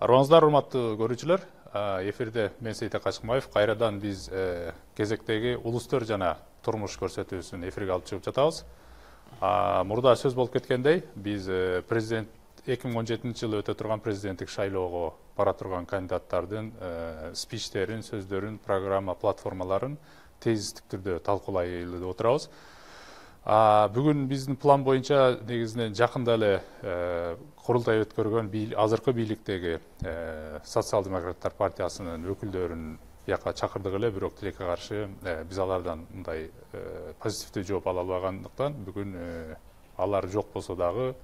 Арыбаңыздар, урматтуу көрүүчүлөр. Эфирде мен Сейт Качкынбаев. Кайрадан биз кезектеги улустөр жана турмуш көрсөтүүсүн эфирге алып чыгып жатабыз. Мурда сөз болуп кеткендей, биз президент 2017 жылы өтө турган президенттик шайлоого бара турган кандидаттардын спичтерин, сөздөрүн, программа, платформаларын тезистик түрдө талкуулайлы деп отурабыз. Бүгүн биздин план боюнча негизинен жакында эле курултай өткөргөн азыркы бийликтеги Социал-демократтар партиясынын өкүлдөрүн бияка чакырдык эле, бирок тилекке каршы биз алардан мындай позитивдүү жооп ала албагандыктан бүгүн алар жок болсо дагы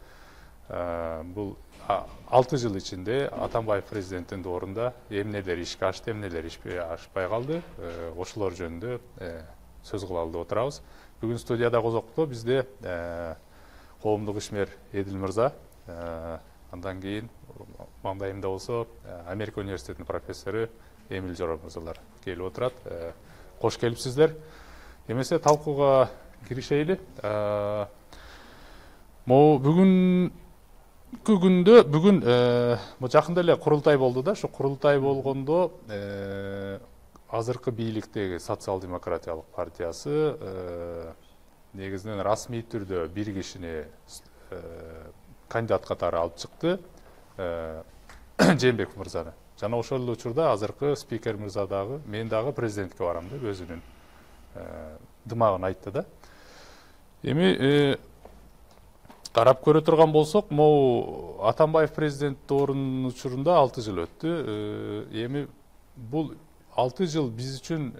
бул 6 жыл ичинде Атамбаев президенттин доорунда эмнелер ишке ашты, эмнелер ашпай калды, ошолор жөнүндө сөз кылалы деп отурабыз. Бүгүн студияда козокту бизде коомдук ишмер Эдил мырза, андан кийин маңдайымда болсо Америка университетинин профессору Эмил Жора мырзалар келип отурат. Кош келипсиздер. Эмесе талкууга киришели. Бүгүн жакында эле курултай болду да, ошо курултай болгондо азыркы бийликтеги Социал-демократиялык партиясы негизинен расмий түрдө бир кишини кандидат катары алып чыкты, Жээнбеков мырзаны. Жана ошол эле учурда азыркы спикер мырза дагы мен дагы президентке барам деп өзүнүн дымагын айтты да. Эми карап көрө турган болсок, могу Атамбаев президент доорунун учурунда 6 жыл өттү. Эми бул 6 жыл биз үчүн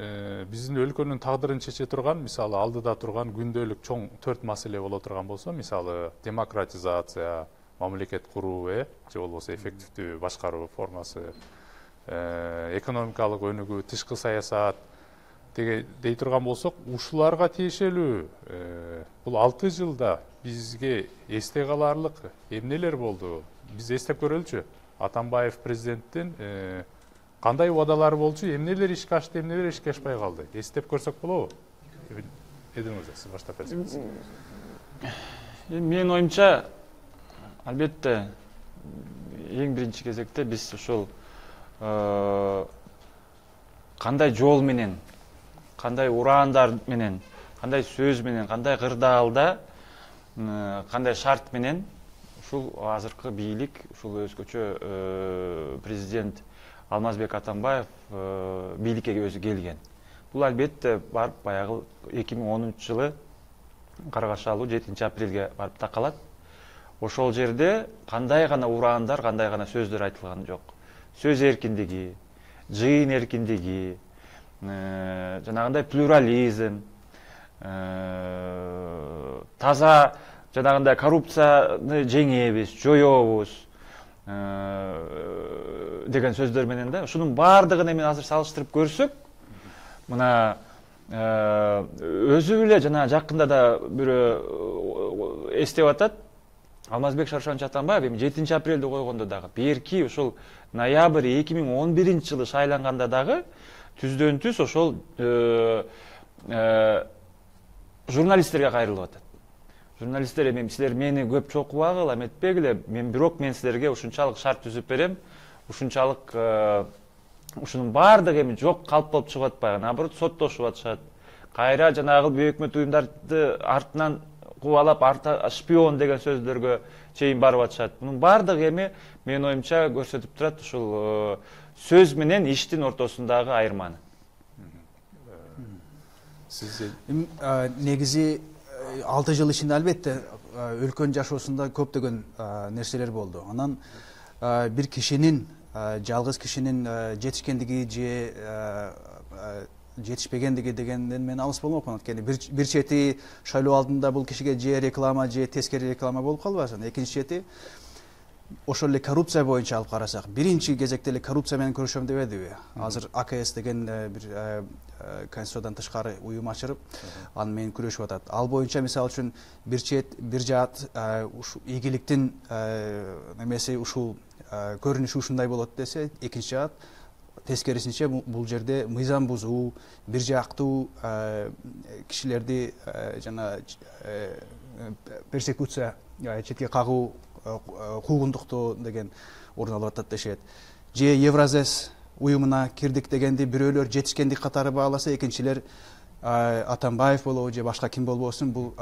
биздин өлкөнүн тагдырын чече турган, мисалы алдыда турган күндөлүк чоң 4 маселе боло турган болсо, мисалы демократизация, мамлекет куруу, же болбосо эффективдүү башкаруу формасы, экономикалык өнүгүү, тышкы саясат дей турган болсок, ушуларга тиешелүү бул 6 жылда бизге эсте каларлык эмнелер болду? Биз эстеп көрөлүчү. Атамбаев президенттин кандай убадалары болчу, эмнелер ишке ашты, эмнелер ишке ашпай калды? Эстеп көрсөк болобу? Эдил мырза, сиз баштап берсеңиз. Менин оюмча, албетте, эң биринчи кезекте биз ушул кандай жол менен, кандай ураандар менен, кандай сөз менен, кандай кырдаалда, кандай шарт менен ушул азыркы бийлик, ушул өзгөчө президент Алмазбек Атамбаев бийликке өзү келген. Бул албетте барып баягы 2010 жылы Каргашалуу 7 апрелге барып такалат. Ошол жерде кандай гана ураандар, кандай гана сөздөр айтылган жок. Сөз эркиндиги, жыйын эркиндиги, жанагындай плюрализм, таза жанагындай коррупцияны жеңебиз, жоёбуз деген сөздөр менен да, ушунун баардыгын эми азыр салыштырып көрсөк, мына өзү эле жана жакында да бирөө эстеп атат, Алмазбек Шаршанович Атамбаев эми 7 апрелде койгондо дагы, берки ушул ноябрь 2011 жылы шайланганда дагы түздөн түз ошол журналисттерге кайрылып атат. Журналисттер эми силер мени көп чокубагыла, эметпегиле, мен силерге ушунчалык шарт түзүп берем, ушунчалык ушунун баардыгы эми жок калп болуп чыгып атпайбы, наоборот соттошуп атышат. Кайра жанагы бейөкмөт уюмдарды артынан кубалап, шпион деген сөздөргө чейин барып атышат. Мунун баардыгы эми менин оюмча көрсөтүп турат ушул сөз менен иштин ортосундагы айырманы. Негизи 6 жыл ичинде албетте өлкөнүн жашоосунда көптөгөн нерселер болду. Анан бир кишинин, жалгыз кишинин жетишкендиги же жетишпегендиги дегенден мен алыс болмокмун. Анткени бир чети шайлоо алдында бул кишиге же реклама, же тескери реклама болуп калбасын. Экинчи чети ошол эле коррупция боюнча алып карасак, биринчи кезекте эле коррупция менен күрөшөм дебедиби? Азыр АКС деген бир конституциядан тышкары уюм ачырып, аны менен күрөшүп атат. Ал боюнча мисалы үчүн бир жаат ийгиликтин немеси ушул көрүнүшү ушундай болот десе, экинчи жаат тескерисинче бул жерде мыйзам бузуу, бир жактуу кишилерди жана персекуция, четке кагуу куугунтукту деген орун алып атат дешет. Же Евразес уюмуна кирдик дегенди бирөөлөр жетишкендик катары бааласа, экинчилер Атамбаев болобу же башка ким болбосун бул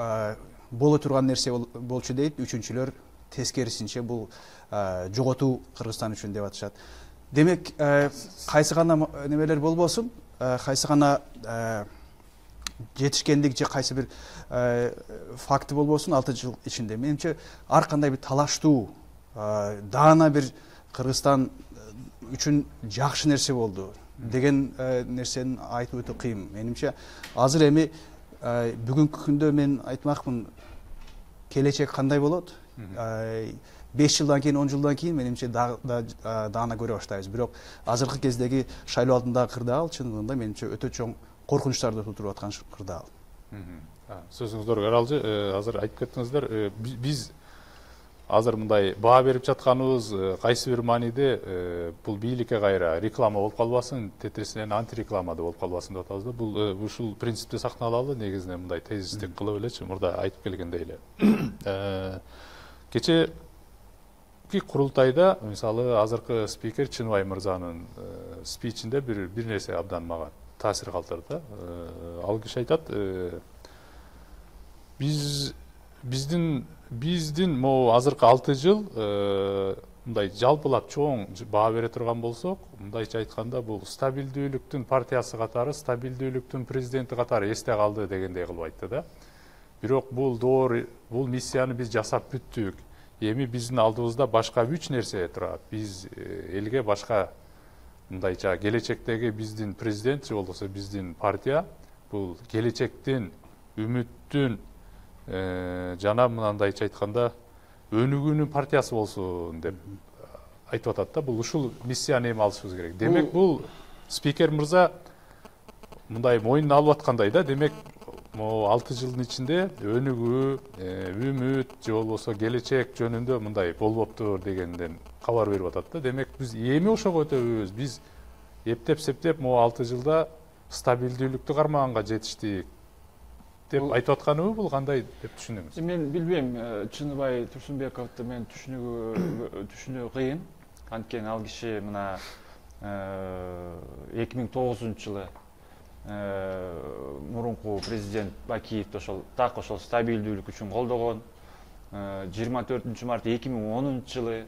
боло турган нерсе болчу дейт, үчүнчүлөр тескерисинче бул жоготуу Кыргызстан үчүн деп атышат. Демек кайсы гана немелер болбосун, кайсы гана жетишкендик же кайсы бир факты болбосун 6 жыл ичинде менимче ар кандай бир талаштуу даана бир Кыргызстан үчүн жакшы нерсе болду деген нерсени айтып өтө кыйын. Менимче азыр эми бүгүнкү күндө мен айтмакмын, келечек кандай болот? 5 жылдан кийин, 10 жылдан кийин менимче даана көрө баштайбыз. Бирок азыркы кездеги шайлоо алдындагы кырдаал чындыгында менимче өтө чоң коркунучтарды туудуруп аткан кырдаал. Сөзүңүздөр каралжы. Азыр айтып кеттиңиздер, биз азыр мындай баа берип жатканыбыз кайсы бир мааниде бул бийликке кайра реклама болуп калбасын, тетирисинен антиреклама болуп калбасын деп атабыз да. Бул ушул принципти сактаналалы, негизинен мындай тезистик кылып элечи, мурда айтып келгендей эле. Кечээки курултайда мисалы азыркы спикер Чыныбай мырзанын спичинде бир нерсе абдан мага таасир калтырды. Ал киши айтат, биздин могу азыркы 6 жыл мындай жалпылап чоң баа бере турган болсок, мындайча айтканда бул стабилдүүлүктүн партиясы катары, стабилдүүлүктүн президенти катары эсте калды дегендей кылып айтты да. Бирок бул бул миссияны биз жасап бүттүк. Эми биздин алдыбызда башка 3 нерсе турат. Биз элге башка мындайча келечектеги биздин президент же болбосо биздин партия бул келечектин, үмүттүн жана мындайча айтканда өнүгүүнүн партиясы болсун деп айтып атат да. Бул ушул миссияны эми алышыбыз керек. Демек бул спикер мырза мындай мойнуна алып аткандай да. Демек 6 жылдын ичинде өнүгүү, үмүт же болбосо келечек жөнүндө мындай болбоптур дегенден кабар берип атат да. Демек биз эми ошого өтөбүз. Биз эптеп-септеп 6 жылда стабилдүүлүктү кармаганга жетиштик деп айтып атканыбы, бул кандай деп түшүнөмүз? Мен билбейм, Чыныбай Турсунбековду мен түшүнүү кыйын. Анткени ал киши мына 2009-жылы мурунку президент Бакиевди так ошол стабилдүүлүк үчүн колдогон. 24 март 2010-жылы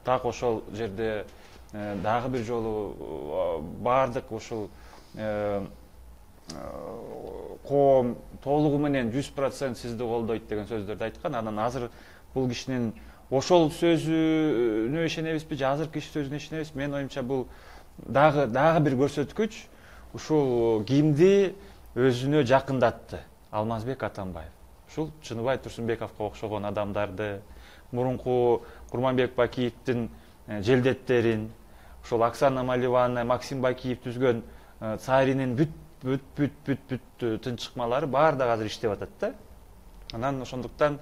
так ошол жерде дагы бир жолу бардык ушул коом толугу менен 100% сизди колдойт деген сөздөрдү айткан. Анан азыр бул кишинин ошол сөзүнө ишенебизби же азыркы киши сөзүнө ишенебизби? Менин оюмча бул дагы бир көрсөткүч. Ушул кимди өзүнө жакындатты? Алмазбек Атамбаев. Ушул Чыныбай Турсунбековго окшогон адамдарды, мурунку Курманбек Бакиевдин желдеттерин, ушул Оксана Маливаны, Максим Бакиев түзгөн Царинин бүт тынчыкмалары баардыгы азыр иштеп атат да. Анан ошондуктан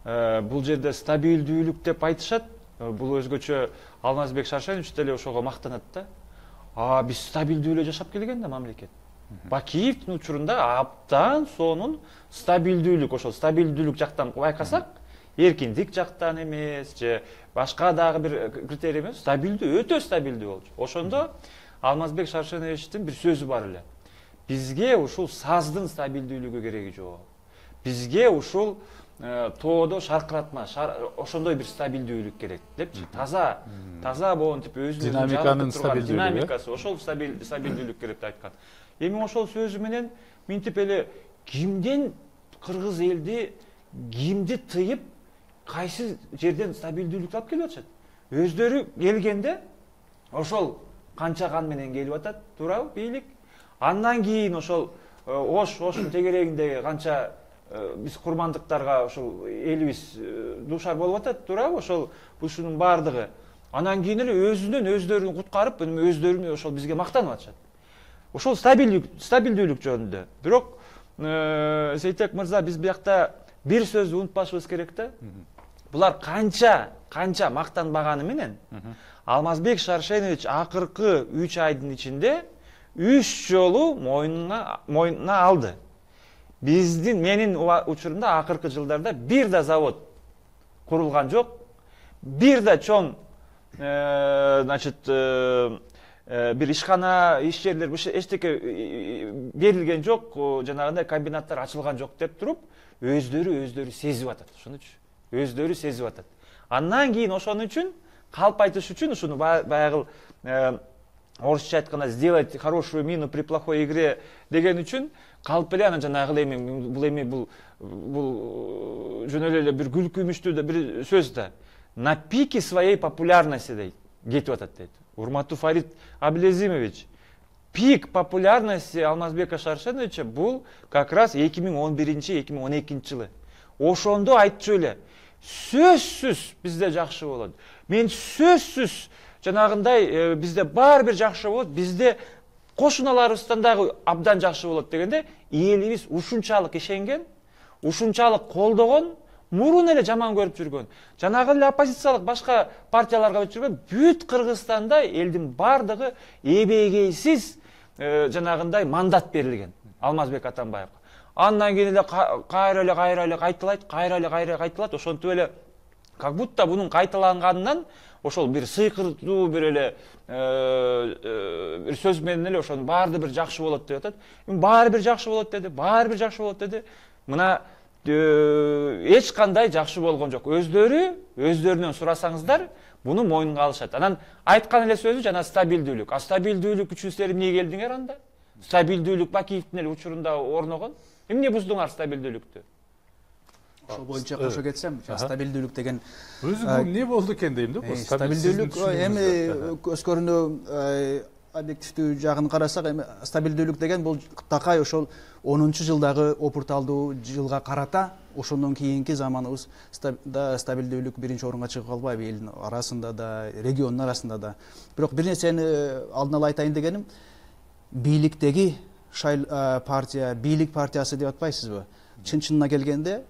бул жерде стабилдүүлүк деп айтышат. Бул өзгөчө Алмазбек Шаршенович деле ошого мактанат да. Биз стабилдүү эле жашап келген да мамлекет. Бакиевдин учурунда абдан сонун стабилдүүлүк, ошол стабилдүүлүк жактан байкасак, эркиндик жактан эмес же башка дагы бир критерий эмес, стабилдүү, өтө стабилдүү болчу. Ошондо Алмазбек Шаршеновичтин бир сөзү бар эле. Бизге ушул саздын стабилдүүлүгү кереги жок. Бизге ушул тоодо шаркыратма, ошондой бир стабилдүүлүк керек депчи. Таза боонтип өзүнүн динамиканын стабилдүүлүгү, динамикасы, ошол стабилдүүлүк керек деп айткан. Эми ошол сөзү менен минтип эле кимден кыргыз элди кимди тыйып, кайсы жерден стабилдүүлүктү алып келип атышат? Өздөрү келгенде ошол канча кан менен келип атат, туурабы, бийлик? Андан кийин ошол Оштун тегерегиндеги канча биз курмандыктарга ошол элибиз дуушар болуп атат, туурабы? Ушунун баардыгы. Анан кийин эле өздөрүн куткарып, өздөрүн ошол бизге мактанып атышат. Ошол стабилдүүлүк жөнүндө. Бирок Сейтек мырза, биз биякта бир сөздү унутпашыбыз керек да. Булар канча мактанбаганы менен Алмазбек Шаршенович акыркы 3 айдын ичинде 3 жолу мойнуна алды. Менин учурумда акыркы жылдарда бир да завод курулган жок. бир да чоң значит бир ишкана, иш жерлер эчтеке берилген жок, жанагындай комбинаттар ачылган жок деп туруп, өздөрү сезип атат, ошонучу. Өздөрү сезип атат. Андан кийин ошон үчүн калп айтыш үчүн ушуну баягы орусча айтканда сделать хорошую мину при плохой игре деген үчүн калп эле анан жанагы бул жөн эле бир күлкүмүштүү да бир сөз да. На пике своей популярности дейт, кетип атат дейт. Урматтуу Фарид Абилезимович, пик популярности Алмазбека Шаршеновича бул как раз 2011-2012 жылы. Ошондо айтчу эле, сөзсүз бизде жакшы болот. Мен сөзсүз жанагындай бизде баары бир жакшы болот, бизде кошуналарыбыздан дагы абдан жакшы болот дегенде, элибиз ушунчалык ишенген, ушунчалык колдогон, мурун эле жаман көрүп жүргөн. Жанагы эле оппозициялык башка партияларга жүргөн бүт Кыргызстанда элдин бардыгы эбегейсиз жанагындай мандат берилген Алмазбек Атамбаевга. Андан кийин эле кайра эле кайталайт, ошентип эле как будто бунун кайталанганынан ошол бир сыйкыртуу бир эле бир сөз менен эле ошонун баары бир жакшы болот деп атат. Баары бир жакшы болот деди. Мына эч кандай жакшы болгон жок. Өздөрүнөн сурасаңыздар, буну мойнунга алышат. Анан айткан эле сөзү жана стабилдүүлүк. Стабилдүүлүк үчүн силер эмне келдиңер анда? Стабилдүүлүк Бакиевдин эле учурунда орногон. Эмне буздуңар стабилдүүлүктү? Ошол боюнча кошо кетсем, стабилдүүлүк деген өзү эмне болду экен дейм да. Стабилдүүлүк эми көз көрүнүү объективдүү жагын карасак, эми стабилдүүлүк деген бул такай ошол 10-жылдагы опурталдуу жылга карата ошондон кийинки заманыбыз стабилдүүлүк биринчи орунга чыгып калбайбы элдин арасында да, региондун арасында да. Бирок бир нерсени алдын ала айтайын дегеним, бийликтеги партия, бийлик партиясы деп атпайсызбы? Чын-чынына келгенде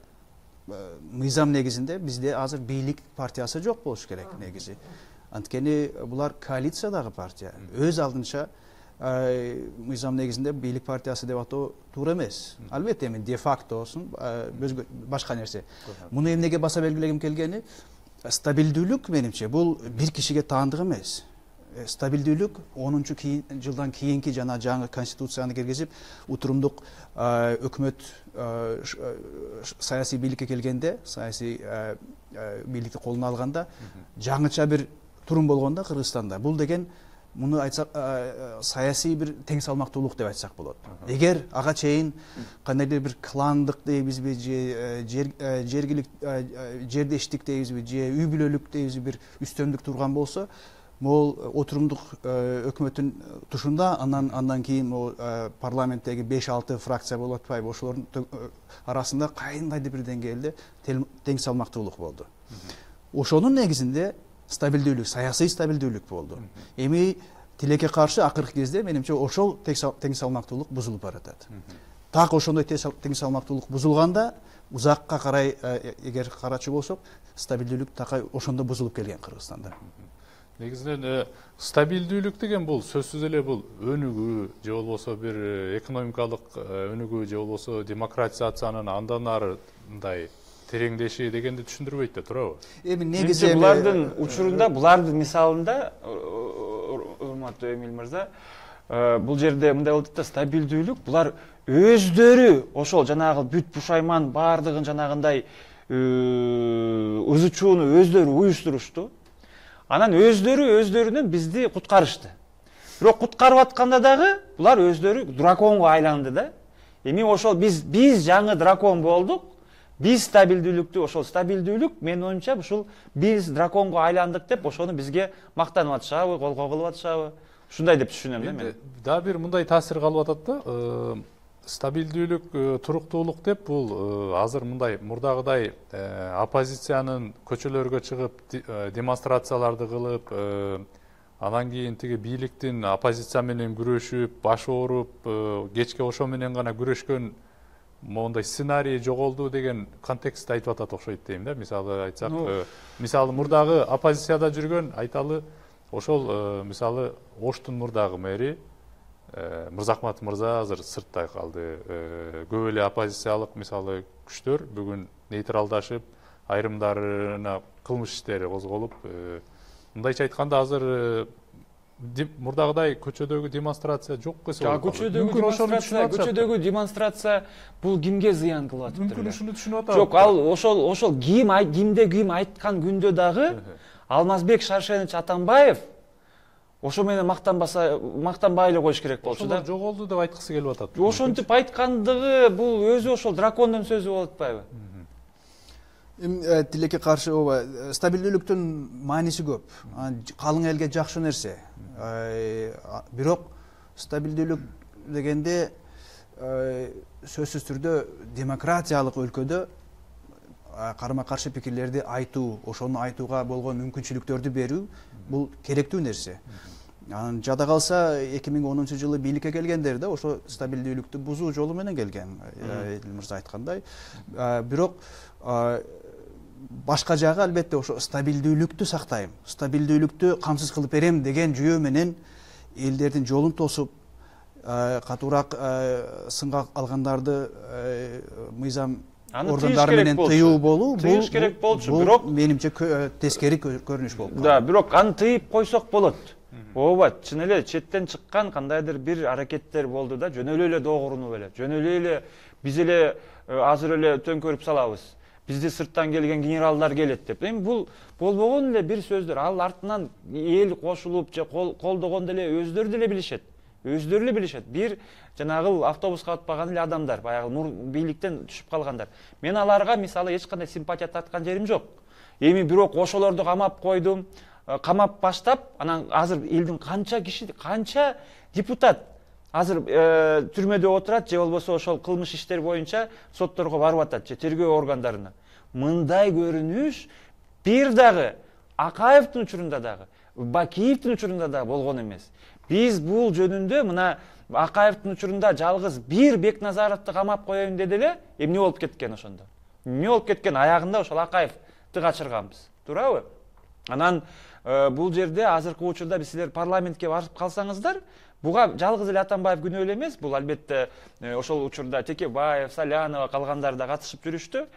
мыйзам негизинде бизде азыр бийлик партиясы жок болуш керек негизи. Анткени булар коалициядагы партия. Өз алдынча мыйзам негизинде бийлик партиясы деп атоо туура эмес. Албетте эми де фактосун башка нерсе. Муну эмнеге баса белгилегим келгени, стабилдүүлүк менимче бул бир кишиге таандык эмес. Стабилдүүлүк 10-жылдан кийинки жана жаңы конституцияны киргизип, утурумдук өкмөт саясий бийликке келгенде, саясий бийликти колуна алганда жаңыча бир турум болгондо Кыргызстанда. Бул деген муну айтсак саясий бир тең салмактуулук деп айтсак болот. Эгер ага чейин кандайдыр бир кландык дейбизби, же жердештик дейбизби, же үй бүлөлүк дейбизби бир үстөмдүк турган болсо, могул отурумдук өкмөттүн тушунда андан кийин могул парламенттеги 5-6 фракция болуп атпайбы, ошолордун арасында кайындайдыр бир деңгээлде тең салмактуулук болду. Ошонун негизинде стабилдүүлүк, саясий стабилдүүлүк болду. Эми тилекке каршы акыркы кезде менимче ошол тең салмактуулук бузулуп баратат. Так ошондой тең салмактуулук бузулганда, узакка карай эгер карачу болсок, стабилдүүлүк такай ошондо бузулуп келген Кыргызстанда. Негизинен стабилдүүлүк деген бул сөзсүз эле бул өнүгүү, же болбосо бир экономикалык өнүгүү, же болбосо демократизациянын андан арындай тереңдеши дегенди түшүндүрбөйт да, туурабы? Эми негизи булардын учурунда, булардын мисалында, урматтуу Эмил мырза, бул жерде мындай болот да, стабилдүүлүк булар өздөрү ошол жанагы бүт пушайман баардыгын жанагындай ызычууну өздөрү уюштурушту. Анан өздөрүнөн бизди куткарышты. Бирок куткарып атканда дагы булар өздөрү драконго айланды да. Эми ошол биз жаңы дракон болдук. Биз стабилдүүлүктү, ошол стабилдүүлүк менин оюмча ушул биз драконго айландык деп ошону бизге мактанып атышабы, колго кылып атышабы? Ушундай деп түшүнөм да мен. Дагы бир мындай таасир калып атат да. Стабилдүүлүк, туруктуулук деп бул азыр мындай мурдагыдай оппозициянын көчөлөргө чыгып демонстрацияларды кылып, анан кийин тиги бийликтин оппозиция менен күрөшүп, баш ооруп, кечке ошо менен гана күрөшкөн моундай сценарий жоголду деген контекстте айтып атат окшойт дейм да. Мисалы айтсак, мисалы мурдагы оппозицияда жүргөн айталы ошол мисалы Оштун мурдагы мэри Мырзахматов мырза азыр сыртта калды. Көп эле оппозициялык мисалы күчтөр бүгүн нейтралдашып, айрымдарына кылмыш иштери козголуп, мындайча айтканда азыр мурдагыдай көчөдөгү демонстрация жок десе болот. Көчөдөгү демонстрация бул кимге зыян кылып атыптыр? Мүмкүн ушуну түшүнүп атат. Жок, ал ошол кимде ким айткан күндө дагы Алмазбек Шаршенович Атамбаев ошо менен мактанбай эле коюш керек болчу да. Ошол жоголду деп айткысы келип атат. Ошентип айткандыгы бул өзү ошол дракондун сөзү болуп атпайбы? Тилекке каршы ооба стабилдүүлүктүн мааниси көп. Калың элге жакшы нерсе. Бирок стабилдүүлүк дегенде сөзсүз түрдө демократиялык өлкөдө карама каршы пикирлерди айтуу, ошону айтууга болгон мүмкүнчүлүктөрдү берүү бул керектүү нерсе. Анан жада калса 2010-жылы бийликке келгендер да ошо стабилдүүлүктү бузуу жолу менен келген, Эдил мырза айткандай. Бирок башка жагы албетте ошо стабилдүүлүктү сактайм, стабилдүүлүктү камсыз кылып берем деген жүйө менен элдердин жолун тосуп, катуураак сынга алгандарды мыйзам органдары менен тыюу болуу, тыйыш керек болчу, бирок менимче тескери көрүнүш болуп калды. Да, бирок аны тыйып койсок болот. Ооба, чын эле четтен чыккан кандайдыр бир аракеттер болду да, жөн эле доогурунуп эле, жөн эле биз эле азыр эле төңкөрүп салабыз. Бизди сырттан келген генералдар келет деп. Эми бул болбогон эле бир сөздөр. Ал артынан эл кошулуп же колдогондо эле өздөрү деле билишет. Бир жанагы автобуска отпаган эле адамдар, баягы бийликтен түшүп калгандар. Мен аларга мисалы эч кандай симпатия таткан жерим жок. Эми бирок ошолорду камап койдум, камап баштап, анан азыр элдин канча депутат азыр түрмөдө отурат же болбосо ошол кылмыш иштер боюнча сотторго барып атат же тергөө органдарына. Мындай көрүнүш бир дагы Акаевдин учурунда дагы, Бакиевдин учурунда дагы болгон эмес. Биз бул жөнүндө мына Акаевдин учурунда жалгыз бир Бекназаровду камап коеюн деди эле, эмне болуп кеткен ошондо? Эмне болуп кеткен? Аягында ошол Акаевди качырганбыз. Туурабы? Анан бул жерде азыркы учурда биз силер парламентке барып калсаңыздар, буга жалгыз эле Атамбаев күнөө эле эмес, бул албетте ошол учурда Текебаев, Салянова калгандар да катышып жүрүштү.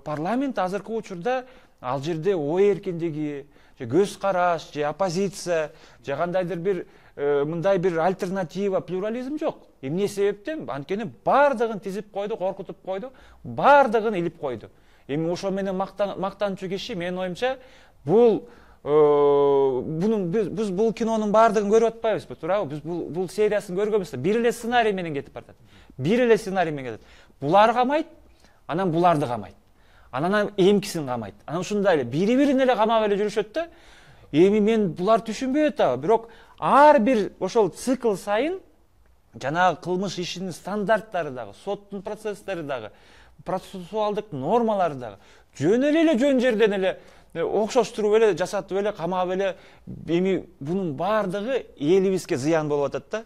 Парламент азыркы учурда ал жерде ой эркиндиги, же көз караш, же оппозиция, же кандайдыр бир мындай бир альтернатива, плюрализм жок. Эмне себептен? Анткени бардыгын тизип койду, коркутуп койду, бардыгын илип койду. Эми ошо менен мактанчу киши менин оюмча бул биз бул кинонун бардыгын көрүп атпайбызбы, туурабы? Биз бул сериясын көргөнбүз. Бир эле сценарий менен кетип баратат. Булар камайт, анан буларды камайт. Анан эмкисин камайт. Анан ушундай эле бири-бирин эле камап эле жүрүшөт да. Эми мен булар түшүнбөй атабы, бирок ар бир ошол цикл сайын жанагы кылмыш ишинин стандарттары дагы, соттун процесстери дагы, процессуалдык нормалары дагы жөн эле жөн жерден эле окшоштуруп эле жасатып эле камап эле. Эми бунун бардыгы элибизге зыян болуп атат да.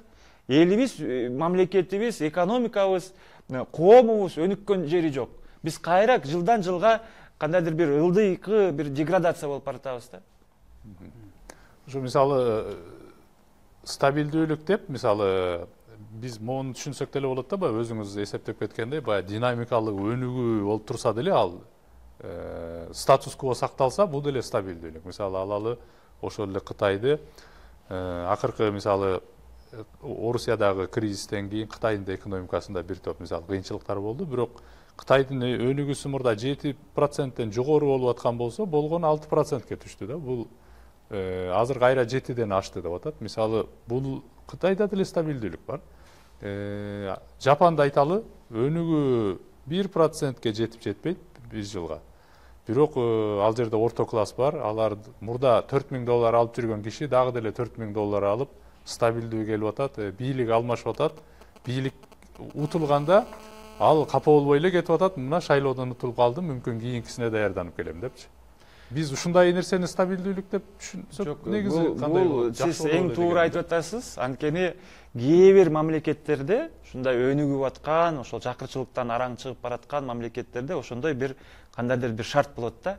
Элибиз, мамлекетибиз, экономикабыз, коомубуз өнүккөн жери жок. Биз кайра жылдан жылга кандайдыр бир ылдыйкы бир деградация болуп баратабыз да. Ошо мисалы стабилдүүлүк деп, мисалы биз моуну түшүнсөк деле болот да, баягы өзүңүз эсептеп кеткендей, баягы динамикалык өнүгүү болуп турса деле ал статус кво сакталса, бул деле стабилдүүлүк. Мисалы алалы ошол эле Кытайды акыркы мисалы Орусиядагы кризистен кийин Кытайдын да экономикасында бир топ мисалы кыйынчылыктар болду, бирок Кытайдын өнүгүүсү мурда 7%тен жогору болуп аткан болсо, болгону 6%ке түштү да. Бул азыр кайра 7ден ашты деп атат. Мисалы бул Кытайда деле стабилдүүлүк бар. Жапанда айталы, өнүгүү 1%ке жетип жетпейт 1 жылга. Бирок ал жерде орто класс бар. Алар мурда $4000 алып жүргөн киши дагы деле $4000 алып стабилдүү келип атат, бийлик алмашып атат. Бийлик утулганда ал капа болбой эле кетип атат. Мына шайлоодон утулуп калдым, мүмкүн кийинкисине даярданып келем депчи. Биз ушундай нерсени стабилдүүлүк деп түшүнсөк, негизи кандай болот? Сиз эң туура айтып атасыз. Анткени кээ бир мамлекеттерде ушундай өнүгүп аткан, ошол жакырчылыктан араң чыгып бараткан мамлекеттерде ошондой бир кандайдыр бир шарт болот да.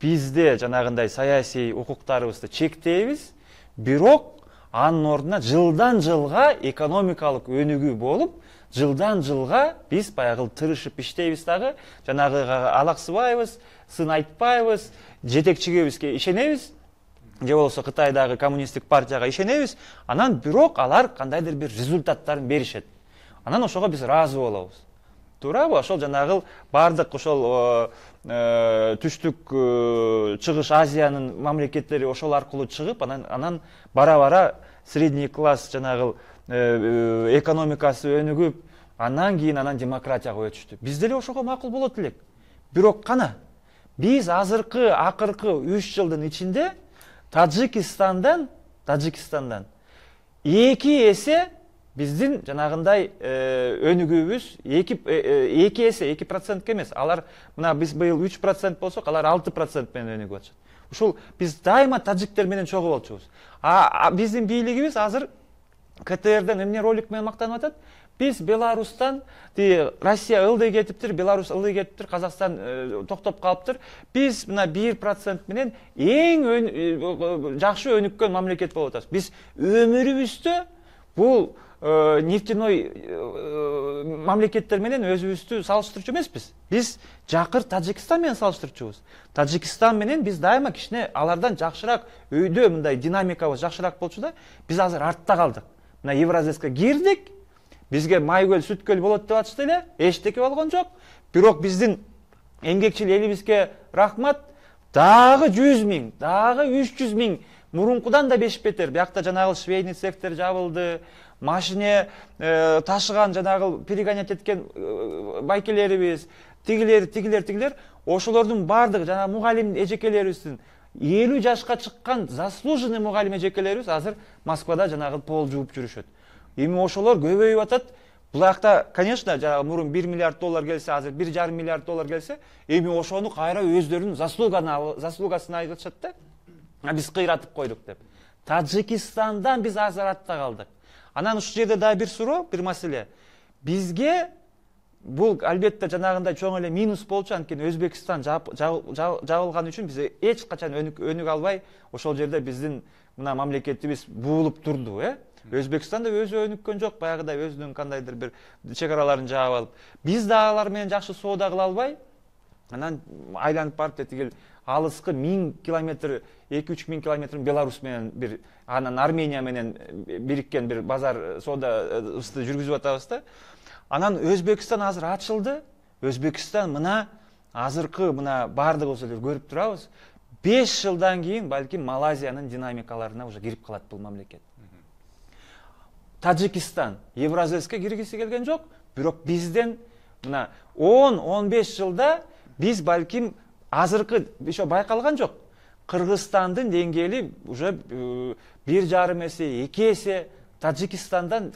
Бизде жанагындай саясий укуктарыбызды чектейбиз, бирок анын ордуна жылдан жылга экономикалык өнүгүү болуп, жылдан жылга биз баягы тырышып иштейбиз дагы, жанагы алаксыбайбыз, сын айтпайбыз, жетекчибизге ишенебиз, же болбосо Кытайдагы коммунисттик партияга ишенебиз, анан бирок алар кандайдыр бир результаттарын беришет. Анан ошого биз ыраазы болобуз. Туурабы? Ошол жанагы бардык ошол түштүк чыгыш Азиянын мамлекеттери ошол аркылуу чыгып, анан бара-бара средний класс жанагы экономикасы өнүгүп, анан кийин демократияга өтүштү. Биз деле ошого макул болот элек. Бирок кана биз акыркы 3 жылдын ичинде Таджикистандан 2 эсе биздин жанагындай өнүгүүбүз 2 эсе 2% эмес. Алар мына биз быйыл 3% болсок, алар 6% менен өнүгүп атышат. Ушул биз дайыма таджиктер менен чогуу болчубуз. Биздин бийлигибиз азыр КТРден эмне ролик менен мактанып атат? Биз Беларустан, Россия ылдый кетиптир, Беларусь ылдый кетиптир, Казакстан токтоп калыптыр. Биз мына 1% менен эң жакшы өнүккөн мамлекет болуп атабыз. Биз өмүрүбүздө бул нефтяной мамлекеттер менен өзүбүздү салыштырчу эмеспиз. Биз жакыр Таджикистан менен салыштырчубуз. Таджикистан менен биз дайыма кичине алардан жакшыраак, өйдө мындай динамикабыз жакшыраак болчу да, биз азыр артта калдык. Мына Евразийска кирдик, бизге майкөл, сүткөл болот деп атышты эле, эчтеке болгон жок. Бирок биздин эмгекчил элибизге рахмат, дагы 100 000, дагы 300 000 мурункудан да беш бетер. Биякта жанагы швейный цехтер жабылды, машине ташыган жанагы перегонять эткен байкелерибиз, тигилер, ошолордун бардыгы жанагы мугалим эжекелерибиздин 50 жашка чыккан заслуженный мугалим эжекелерибиз азыр Москвада жанагы пол жууп жүрүшөт. Эми ошолор көбөйүп атат. Булакта, конечно, жанагы мурун $1 миллиард келсе, азыр $1,5 миллиард келсе, эми ошону кайра өздөрүнүн заслугасын айтышат да. Биз кыйратып койдук деп. Таджикистандан биз азыр артта калдык. Анан ушул жерде да бир суроо, бир маселе. Бизге бул албетте жанагындай чоң эле минус болчу, анткени Өзбекстан жабылган үчүн биз эч качан өнүгө албай, ошол жерде биздин мына мамлекетибиз буулуп турду, Өзбекстан да өзү өнүккөн жок, баягыдай өзүнүн кандайдыр бир чек-араларын жаап алып. Биз да алар менен жакшы соода кыла албай, анан айланып барып тигил алыскы 1000 километр, 2-3 миң километр Беларусь менен бир, анан Армения менен бириккен бир базар соодабызды жүргүзүп атабыз да. Анан Өзбекстан азыр ачылды. Өзбекстан мына азыркы мына бардыгыбыз эле көрүп турабыз. 5 жылдан кийин балким Малайзиянын динамикаларына уже кирип калат бул мамлекет. Таджикистан Евразийске киргиси келген жок, бирок бизден мына 10-15 жылда биз балким азыркы ошо байкалган жок. Кыргызстандын деңгээли уже 1,5 эсе, 2 эсе Таджикстандын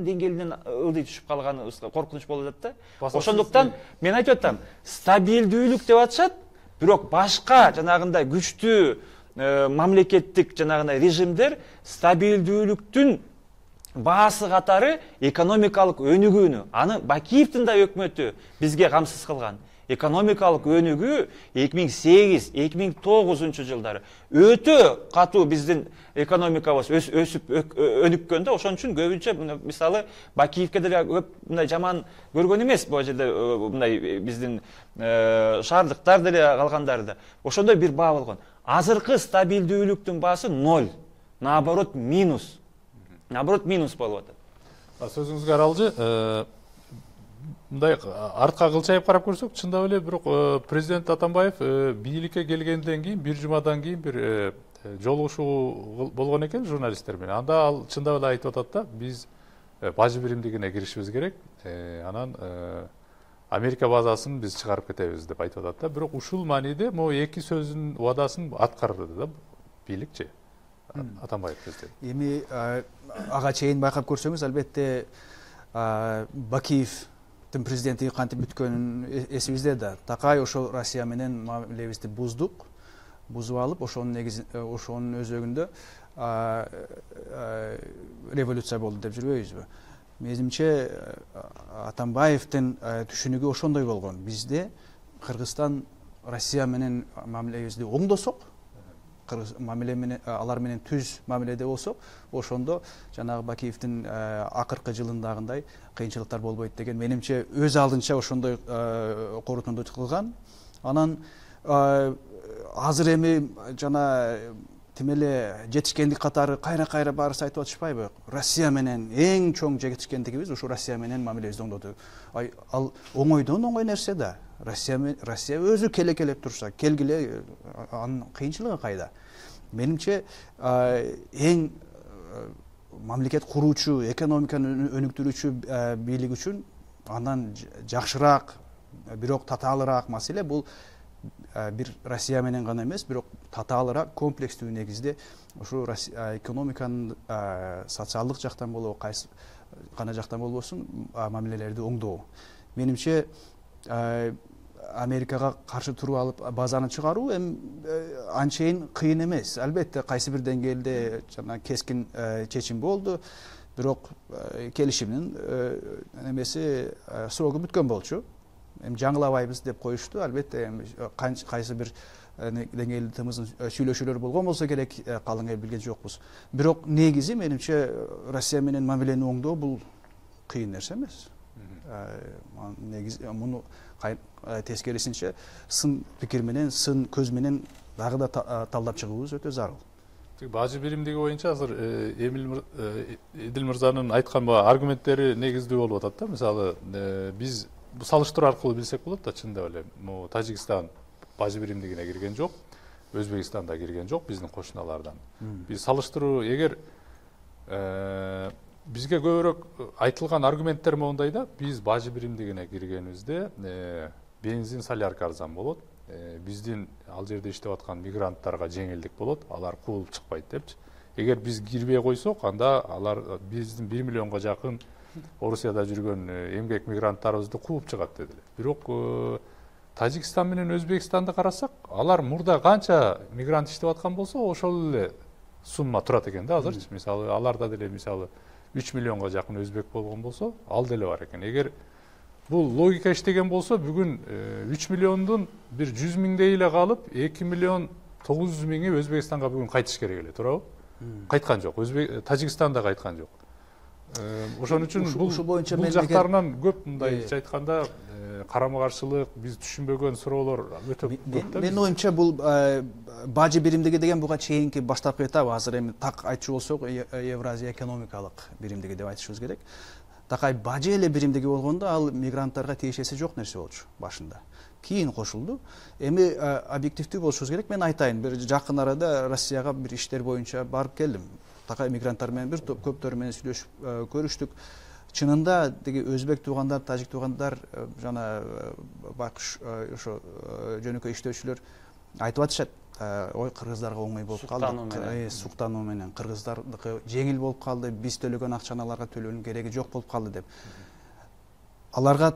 деңгээлинен ылдый түшүп калганы коркунуч болуп атат да. Ошондуктан мен айтып атам, стабилдүүлүк деп атышат, бирок башка жанагындай күчтүү мамлекеттик жанагындай режимдер стабилдүүлүктүн баасы катары экономикалык өнүгүүнү, аны Бакиевдин да өкмөтү бизге камсыз кылган. Экономикалык өнүгүү 2008-2009 жылдары өтө катуу биздин экономикабыз өсүп өнүккөн да. Ошон үчүн көбүнчө мисалы Бакиевке деле көп мындай жаман көргөн эмес, бул жерде мындай биздин шаардыктар деле калгандары да. Ошондой бир баа болгон. Азыркы стабилдүүлүктүн баасы 0, наоборот минус. Минус болуп атат. Сөзүңүзгө аралжы, мындай артка кылчайып карап көрсөк, чындап эле бирок президент Атамбаев бийликке келгенден кийин бир жумадан кийин бир жолугушуу болгон экен журналистер менен. Анда ал чындап эле айтып атат да, биз бажы биримдигине киришибиз керек, анан Америка базасын биз чыгарып кетебиз деп айтып атат да. Бирок ушул мааниде могу эки сөзүн убадасын аткарды да бийликчи. Атамбаев президент. Эми ага чейин байкап көрсөңүз, албетте Бакиевдин президенттиги кантип бүткөнүн эсибизде да. Такай ошол Россия менен мамилебизди бузуп алып, ошонун өзөгүндө революция болду деп жүрбөйбүзбү? Менимче Атамбаевдин түшүнүгү ошондой болгон. Бизде Кыргызстан Россия менен мамилебизди оңдосок, мамиле менен алар менен түз мамиледе болсок, ошондо жанагы Бакиевдин акыркы жылындагындай кыйынчылыктар болбойт деген менимче өз алдынча ошондой корутунду кылган. Анан азыр эми жана тим эле жетишкендик катары кайра баарысы айтып атышпайбы? Россия менен эң чоң жетишкендигибиз ушу Россия менен мамилебизди оңдоду. Ал оңойдон оңой нерсе да. Россия өзү келекелеп турса, келгиле, анын кыйынчылыгы кайда? Менимче эң мамлекет куруучу, экономиканы өнүктүрүүчү бийлик үчүн андан жакшыраак, бирок татаалыраак маселе бул бир Россия менен гана эмес, бирок татаалыраак, комплекстүү негизде ушу экономиканын социалдык жактан болобу, кайсы гана жактан болбосун мамилелерди оңдоо. Менимче Америкага каршы туруп алып базаны чыгаруу анчейин кыйын эмес. Албетте кайсы бир деңгээлде жана кескин чечим болду, бирок келишимдин эмеси срогу бүткөн болчу. Жаңылабайбыз деп коюшту. Албетте кайсы бир деңгээлде тымыздын сүйлөшүүлөр болгон болсо керек, калың эл билген жокпуз. Бирок негизи менимче Россия менен мамилени оңдоо бул кыйын нерсе эмес. Негизи муну тескерисинче сын пикир менен, сын көз менен дагы да талдап чыгуубуз өтө зарыл. Бажы биримдиги боюнча азыр Эдил мырзанын айткан аргументтери негиздүү болуп атат да. Мисалы, биз салыштыруу аркылуу билсек болот да, чындап эле. Тажикстан бажы биримдигине кирген жок, Өзбекстан да кирген жок биздин кошуналардан. Биз салыштыруу эгер бизге көбүрөөк айтылган аргументтер моундай да, биз бажы биримдигине киргенибизде бензин, солярка арзан болот, биздин ал жерде иштеп аткан мигранттарга жеңилдик болот, алар куулуп чыкпайт депчи. Эгер биз кирбей койсок, анда алар биздин 1 миллионго жакын Орусияда жүргөн эмгек мигранттарыбызды кууп чыгат дедилер. Бирок Тажикстан менен Өзбекстанды карасак, алар мурда канча мигрант иштеп аткан болсо, ошол эле сумма турат экен да азырчы. Мисалы, аларда деле 3 миллионго жакын өзбек болгон болсо, ал деле бар экен. Эгер бул логика иштеген болсо, бүгүн 3 миллиондун бир 100 миңдей эле калып, 2 миллион 900 миңи Өзбекстанга бүгүн кайтыш керек эле, туурабы? Кайткан жок. Тажикстанда кайткан жок. Ошон үчүн бул жактарынан көп мындайча айтканда карама-каршылык, биз түшүнбөгөн суроолор өтө көп да. Менин оюмча бул бажы биримдиги деген буга чейинки баштапкы этап, азыр эми так айтчу болсок, Евразия экономикалык биримдиги деп айтышыбыз керек. Такай бажы эле биримдиги болгондо ал мигранттарга тиешеси жок нерсе болчу башында. Кийин кошулду. Эми объективдүү болушубуз керек. Мен айтайын, бир жакын арада Россияга бир иштер боюнча барып келдим. Такай мигранттар менен бир топ көптөр менен сүйлөшүп көрүштүк. Чынында деги өзбек туугандар, тажик туугандар жана байкуш ошо жөнөкөй иштөөчүлөр айтып атышат. Ой, кыргыздарга оңой болуп калды. Суктануу менен кыргыздардыкы жеңил болуп калды, биз төлөгөн акчаны аларга төлөөнүн кереги жок болуп калды деп. Аларга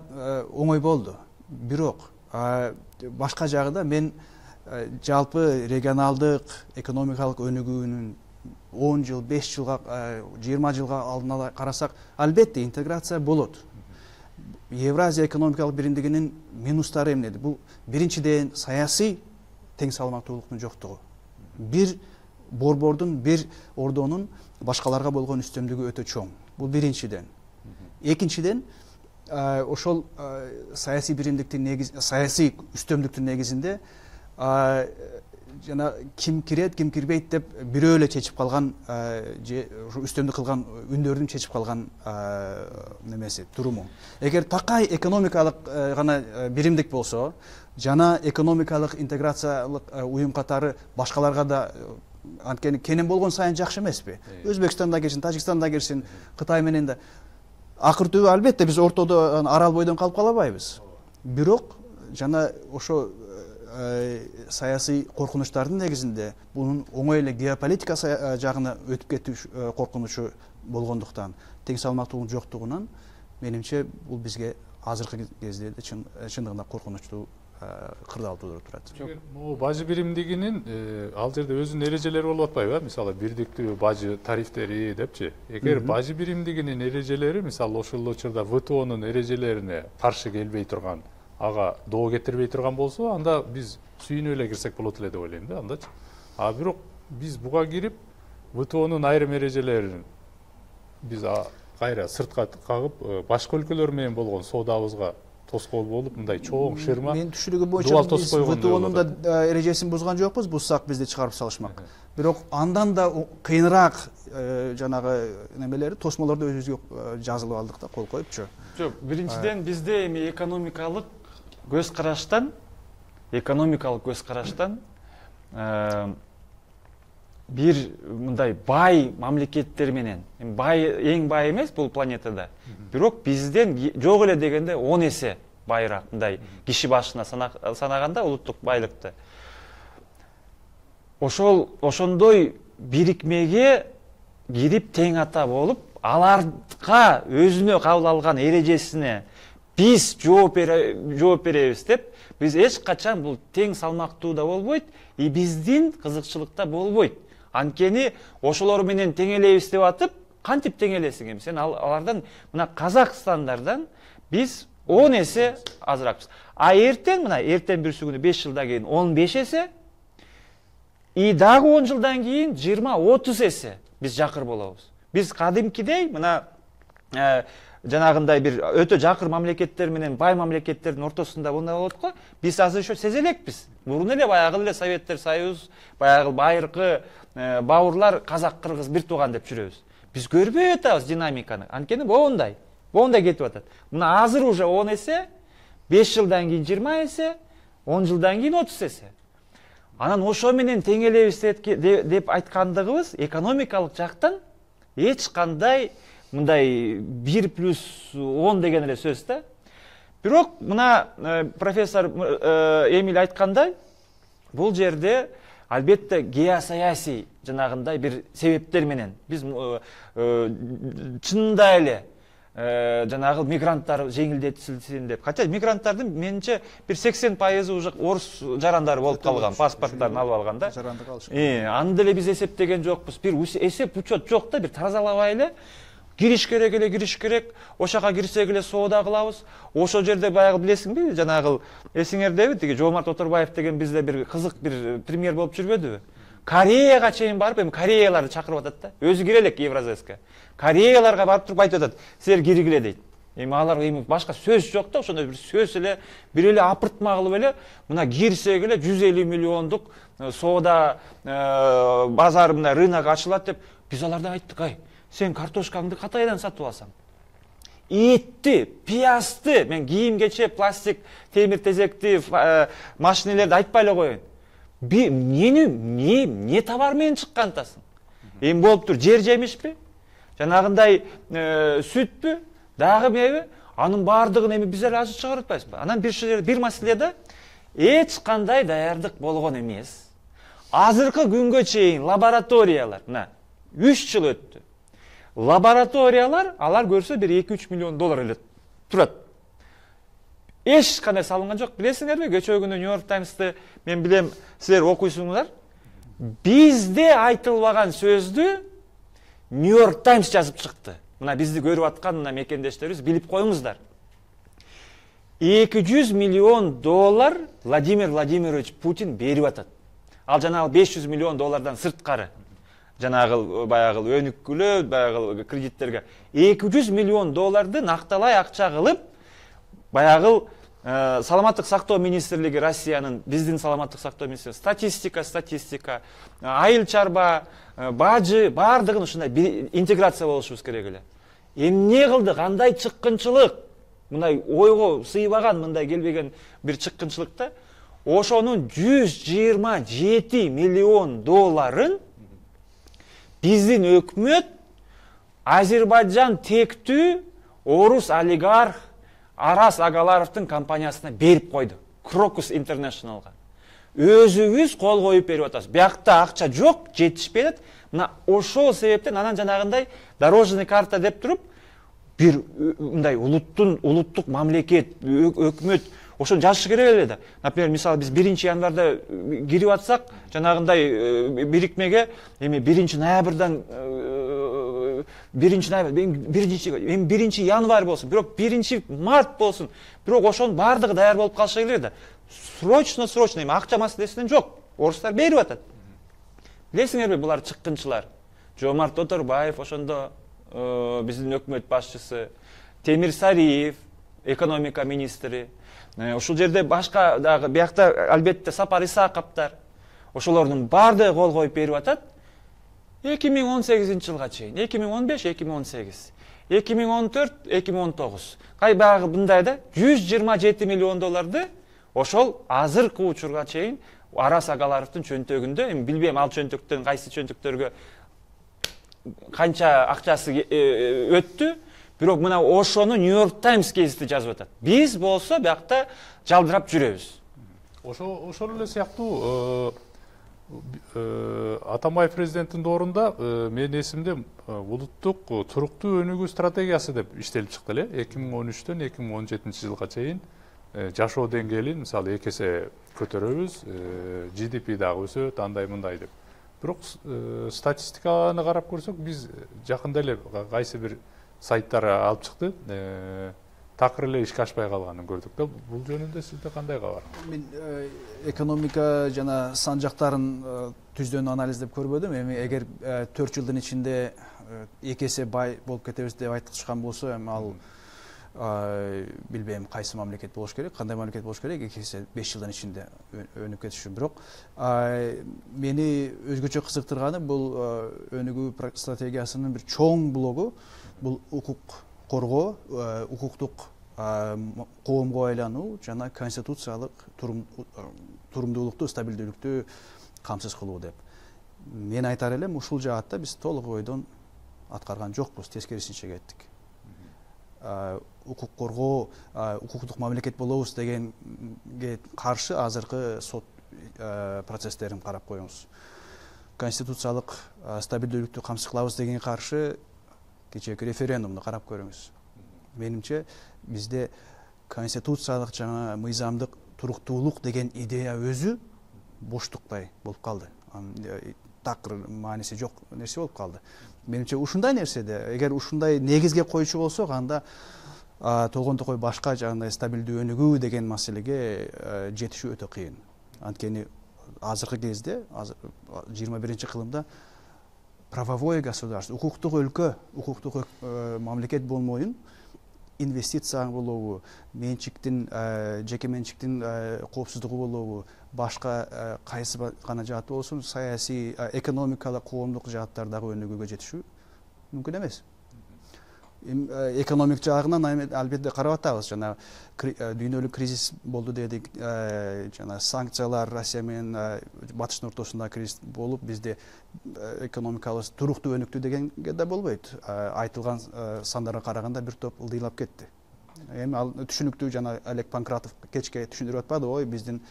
оңой болду. Бирок башка жагында мен жалпы регионалдык экономикалык өнүгүүнүн 10 жыл, 5 жылга, 20 жылга алдын ала карасак, албетте интеграция болот. Евразия экономикалык биримдигинин минустары эмнеди? Бул биринчиден саясий тең салмактуулуктун жоктугу. Бир борбордун, бир ордонун башкаларга болгон үстөмдүгү өтө чоң. Бул биринчиден. Экинчиден, ошол саясий биримдиктин негизи, саясий үстөмдүктүн негизинде жана ким кирет, ким кирбейт деп бирөө эле чечип калган, же үстөмдүк кылган үндөрдүн чечип калган немеси, туруму. Эгер такай экономикалык гана биримдик болсо, жана экономикалык интеграциялык уюм катары башкаларга да анткени кенен болгон сайын жакшы эмеспи? Өзбекстанда кирсин, Тажикстанда кирсин, Кытай менен да. Акыр түбү албетте биз ортодо арал бойдон калып калабайбыз. Бирок жана ошо саясий коркунучтардын негизинде бунун оңой эле геополитика жагына өтүп кетүү коркунучу болгондуктан, тең салмактуулук жоктугунан менимче бул бизге азыркы кезде чындыгында коркунучтуу кырдаал туудуруп турат. Могу бажы биримдигинин ал жерде өзүнүн эрежелери болуп атпайбы? Мисалы, бирдиктүү бажы тарифтери депчи. Эгер бажы биримдигинин эрежелери, мисалы, ошол учурда ВТОнун эрежелерине каршы келбей турган, ага доо кетирбей турган болсо, анда биз сүйүнүп эле кирсек болот эле деп ойлойм да, андачы. А бирок биз буга кирип ВТОнун айрым эрежелерин биз кайра сыртка кагып башка өлкөлөр менен болгон соодабызга тоскоол болуп мындай чоң шырма Менин түшүнүгүм боюнча биз ВТОнун да эрежесин бузган жокпуз, бузсак бизди чыгарып салышмак. Бирок андан да кыйыныраак жанагы немелери, тосмолорду өзүбүзгө жазылып алдык да, кол коюпчу. Жок, биринчиден бизде эми экономикалык көз караштан бир мындай бай мамлекеттер менен, эң бай эмес бул планетада, бирок бизден жок эле дегенде 10 эсе байыраак, мындай киши башына санаганда улуттук байлыкты. Ошондой бирикмеге кирип тең ата болуп, аларга өзүнө кабыл алган эрежесине биз жооп беребиз деп, биз эч качан бул тең салмактуу да болбойт, и биздин кызыкчылык да болбойт. Анткени ошолор менен теңелебиз деп атып, кантип теңелесиң эми? Сен алардан, мына Казакстандардан биз 10 эсе азыракпыз. А эртең бир күнү 5 жылдан кийин 15 эсе, и дагы 10 жылдан кийин 20-30 эсе биз жакыр болобуз. Биз кадимкидей мына жанагындай бир өтө жакыр мамлекеттер менен бай мамлекеттердин ортосунда мындай болот го. Биз азыр ошо сезе элекпиз. Мурун эле баягы эле Советтер Союз, баягы байыркы бауырлар казак-кыргыз бир тууган деп жүрөбүз. Биз көрбөй атабыз динамиканы. Анткени моундай кетип атат. Мына азыр уже 10 эсе, 5 жылдан кийин 20 эсе, 10 жылдан кийин 30 эсе. Анан ошо менен теңелебиз деп айткандыгыбыз экономикалык жактан эч кандай мындай 1+10 деген эле сөз да. Бирок мына профессор Эмиль айткандай, бул жерде албетте геосаясий жанагындай бир себептер менен биз чынында эле жанагы мигранттар жеңилдетилсин деп. Хотя мигранттардын менимче бир 80% уже орус жарандары болуп калган, паспорттарын алып алганда. Жаранды калышкан. Аны деле биз эсептеген жокпуз. Бир эсеп учет жок да, бир тазалабай эле кириш керек, ошака кирсек эле соода кылабыз. Ошол жерде баягы билесиңби, жанагы эсиңердеби, тиги Жоомарт Оторбаев деген бизде бир кызык бир премьер болуп жүрбөдүбү? Кореяга чейин барып, эми Кореяларды чакырып атат да. Өзү кире элек Евразэске. Кореяларга барып туруп айтып атат, силер киргиле дейт. Эми алар эми башка сөз жок да, ошондой бир сөз эле, бир эле апыртма кылып эле, мына кирсек эле 150 миллиондук соода базар, мына рынок ачылат деп, биз алардан айттык, ай, сен картошкаңды Катайдан сатып алсаң, этти, пиязды, мен кийим кече, пластик, темир тезекти, машинелерди айтпай эле коеюн. Не товар менен чыккантасың? Эми болуп тур, жер жемишпи? Жанагындай сүтпү? Дагы меби? Анын баардыгын эми биз эле азыр чыгарып атпайбызбы? Анан бир маселеде эч кандай даярдык болгон эмес. Азыркы күнгө чейин лабораториялар, мына 3 жыл өттү. Лабораториялар, алар көрсө бир 2-3 миллион доллар эле турат. Эч кандай салынган жок. Билесиңерби, кечээ күнү Нью-Йорк Таймсты мен билем, силер окуйсуңар. Бизде айтылбаган сөздү Нью-Йорк Таймс жазып чыкты. Мына бизди көрүп аткан мына мекендештерибиз билип коюңуздар. 200 миллион доллар Владимир Владимирович Путин берип атат. Ал жанагы 500 миллион доллардан сырткары. Жанагы баягы өнүккүлө, баягы кредиттерге 200 миллион долларды накталай акча кылып, баягы саламаттык сактоо министрлиги Россиянын, биздин саламаттык сактоо министрлиги статистика, айыл чарба, бажы, баардыгын ушундай интеграция болушубуз керек эле. Эмне кылды, кандай чыккынчылык? Мындай ойго сыйбаган, мындай келбеген бир чыккынчылыкта ошонун 127 миллион долларын биздин өкмөт Азербайджан тектүү орус олигарх Арас Агаларовдун компаниясына берип койду. Crocus International'га. Өзүбүз кол коюп берип атабыз. Биякта акча жок, жетишпей атат. Мына ошол себептен анан жанагындай дорожный карта деп туруп, бир мындай улуттук мамлекет, өкмөт ошону жазыш керек эле да. Например, мисалы биз 1-январда кирип атсак, жанагындай бирикмеге эми 1-ноябрдан 1-январь болсун, бирок 1-март болсун, бирок ошонун баардыгы даяр болуп калышы керек да. Срочно, эми акча маселесинен жок. Орустар берип атат. Билесиңерби булар чыккынчылар? Жомарт Тоторбаев, ошондо биздин өкмөт башчысы, Темир Сариев, экономика министри, ушул жерде башка дагы биякта албетте Сапар Исаковдор, ошолордун баардыгы кол коюп берип атат. 2018 жылга чейин, 2015, 2018, 2014, 2019. Кай баягы мындай да $127 миллион ошол азыркы учурга чейин Арас Агаларовдун чөнтөгүндө, эми билбейм ал чөнтөктөн кайсы чөнтөктөргө канча акчасы өттү, бирок мына ошону New York Times гезити жазып атат. Биз болсо биякта жалдырап жүрөбүз. Ошол эле сыяктуу Атамбаев президенттин доорунда менин эсимде улуттук туруктуу өнүгүү стратегиясы деп иштелип чыкты эле. 2013төн 2017 жылга чейин жашоо деңгээлин мисалы 2 эсе көтөрөбүз, GDP дагы өсөт, андай мындай деп. Бирок статистиканы карап көрсөк, биз жакында эле кайсы бир сайттар алып чыкты, такыр эле ишке ашпай калганын көрдүк да. Бул жөнүндө сизде кандай кабар? Мен экономика жана сан жактарын түздөн анализдеп көрбөдүм. Эми эгер 4 жылдын ичинде 2 эсе бай болуп кетебиз деп айтышкан болсо, эми ал билбейм кайсы мамлекет болуш керек, кандай мамлекет болуш керек, 2 эсе 5 жылдын ичинде өнүп кетиши. Бирок мени өзгөчө кызыктырганы бул өнүгүү стратегиясынын бир чоң блогу, бул укук коргоо, укуктук коомго айлануу жана конституциялык турумдуулукту, стабилдүүлүктү камсыз кылуу деп. Мен айтар элем, ушул жаатта биз толук ойдон аткарган жокпуз, тескерисинче кеттик. Укук коргоо, укуктук мамлекет болобуз дегенге каршы азыркы сот процесстерин карап коюңуз. Конституциялык стабилдүүлүктү камсыз кылабыз дегенге каршы кечээки референдумду карап көрүңүз. Менимче бизде конституциялык жана мыйзамдык туруктуулук деген идея өзү боштуктай болуп калды. Такыр мааниси жок нерсе болуп калды. Менимче ушундай нерседе, эгер ушундай негизге коючу болсок, анда толгон токой башка жагындай стабилдүү өнүгүү деген маселеге жетишүү өтө кыйын. Анткени азыркы кезде, 21-кылымда правовое государство, укуктук өлкө, укуктук мамлекет болмоюн, инвестиция болобу, менчиктин, жеке менчиктин коопсуздугу болобу, башка кайсы гана жаат болсун, саясий, экономикалык, коомдук жааттардагы өнүгүүгө жетишүү мүмкүн эмес. Экономик жагынан албетте карап атабыз, жана дүйнөлүк кризис болду дедик, жана санкциялар Россия менен батыштын ортосунда кризис болуп, бизде экономикабыз туруктуу өнүктү дегенге да болбойт. Айтылган сандарга караганда бир топ ылдыйлап кетти. Эми ал түшүнүктүү, жана Олег Панкратов кечке түшүндүрүп атпады, ой биздин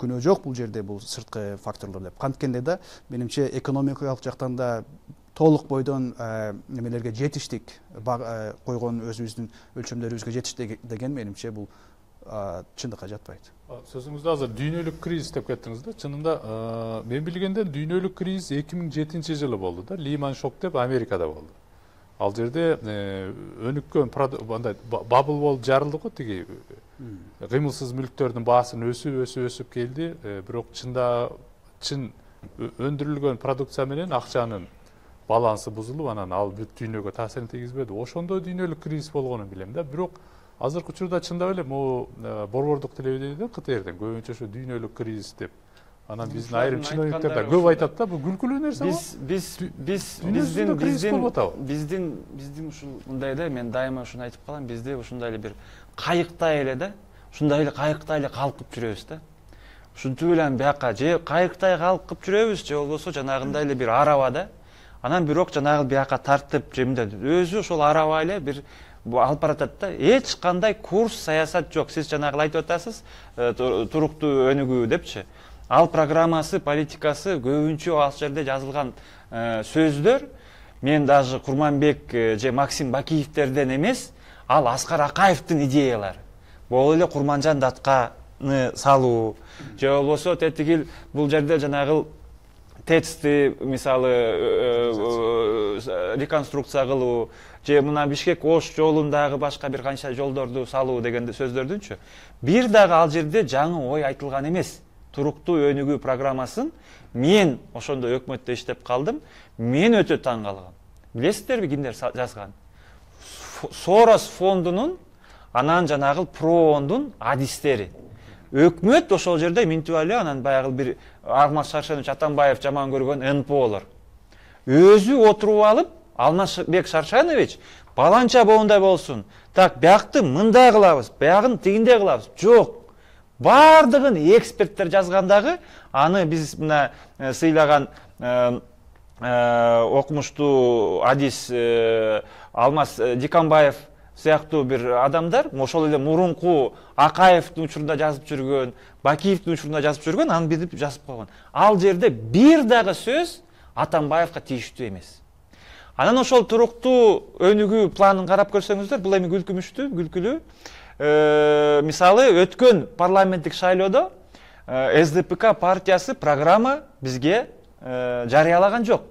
күнөө жок бул жерде, бул сырткы факторлор деп. Канткенде да менимче экономикалык жактан да толук бойдон немелерге жетиштик, койгон өзүбүздүн өлчөмдөрүбүзгө жетиштик деген менимче бул чындыкка жатпайт. Сөзүңүздө азыр дүйнөлүк кризис деп кеттиңиз да. Чынында мен билгенден дүйнөлүк кризис 2007 жылы болду да, Lehman Shock деп Америкада болду. Ал жерде өнүккөн андай бабл болуп жарылды го, тиги кыймылсыз мүлктөрдүн баасын өсүп келди, бирок чын өндүрүлгөн продукция менен акчанын балансы бузулуп, анан ал бүт дүйнөгө таасирин тийгизбеди. Ошондо дүйнөлүк кризис болгонун билем да. Бирок азыркы учурда чындап эле могу борбордук телевидениеде КТРден көбүнчө ошо дүйнөлүк кризис деп. Анан биздин айрым чиновниктер да көп айтат да, бул күлкүлүү нерсе го. Биздин ушул мындай да, мен дайыма ушуну айтып калам, бизде ушундай эле бир кайыктай эле да, ушундай эле кайыктай эле калкып жүрөбүз да. Ушинтип эле бияка же кайыктай калкып жүрөбүз, же болбосо жанагындай эле бир араба да. Анан бирок жанагы бияка тартып, же мындай өзү ошол араба эле бир алып баратат да. Эч кандай курс, саясат жок. Сиз жанагы айтып атасыз, туруктуу өнүгүү депчи. Ал программасы, политикасы көбүнчө ал жерде жазылган сөздөр мен даже Курманбек же Максим Бакиевтерден эмес, ал Аскар Акаевдин идеялары. Бул эле Курманжан Датканы салуу, же болбосо тетигил бул жерде жанагы ТЭЦти мисалы реконструкция кылуу, же мына Бишкек Ош жолундагы башка бир канча жолдорду салуу деген сөздөрдүнчү бир дагы ал жерде жаңы ой айтылган эмес. туруктуу өнүгүү программасын мен ошондо өкмөттө иштеп калдым. Мен өтө таң калгам. Билесиздерби кимдер жазган? Сорос фондунун, анан жанагы Проондун адистери. Өкмөт ошол жерде минтип эле анан баягы бир Алмаз Шаршенович Атамбаев жаман көргөн НПОлор. Өзү отуруп алып, Алмазбек Шаршенович баланча боундай болсун. Так, биякты мындай кылабыз, биягын тигиндей кылабыз. Жок. Бардыгын эксперттер жазгандагы, аны биз мына сыйлаган окумуштуу адис Алмаз Дикамбаев сыяктуу бир адамдар, ошол эле мурунку Акаевдин учурунда жазып жүргөн, Бакиевдин учурунда жазып жүргөн, аны билип жазып койгон. Ал жерде бир дагы сөз Атамбаевка тийиштүү эмес. Анан ошол туруктуу өнүгүү планын карап көрсөңүздөр, бул эми күлкүлүү. Мисалы, өткөн парламенттик шайлоодо СДПК партиясы программа бизге жарыялаган жок.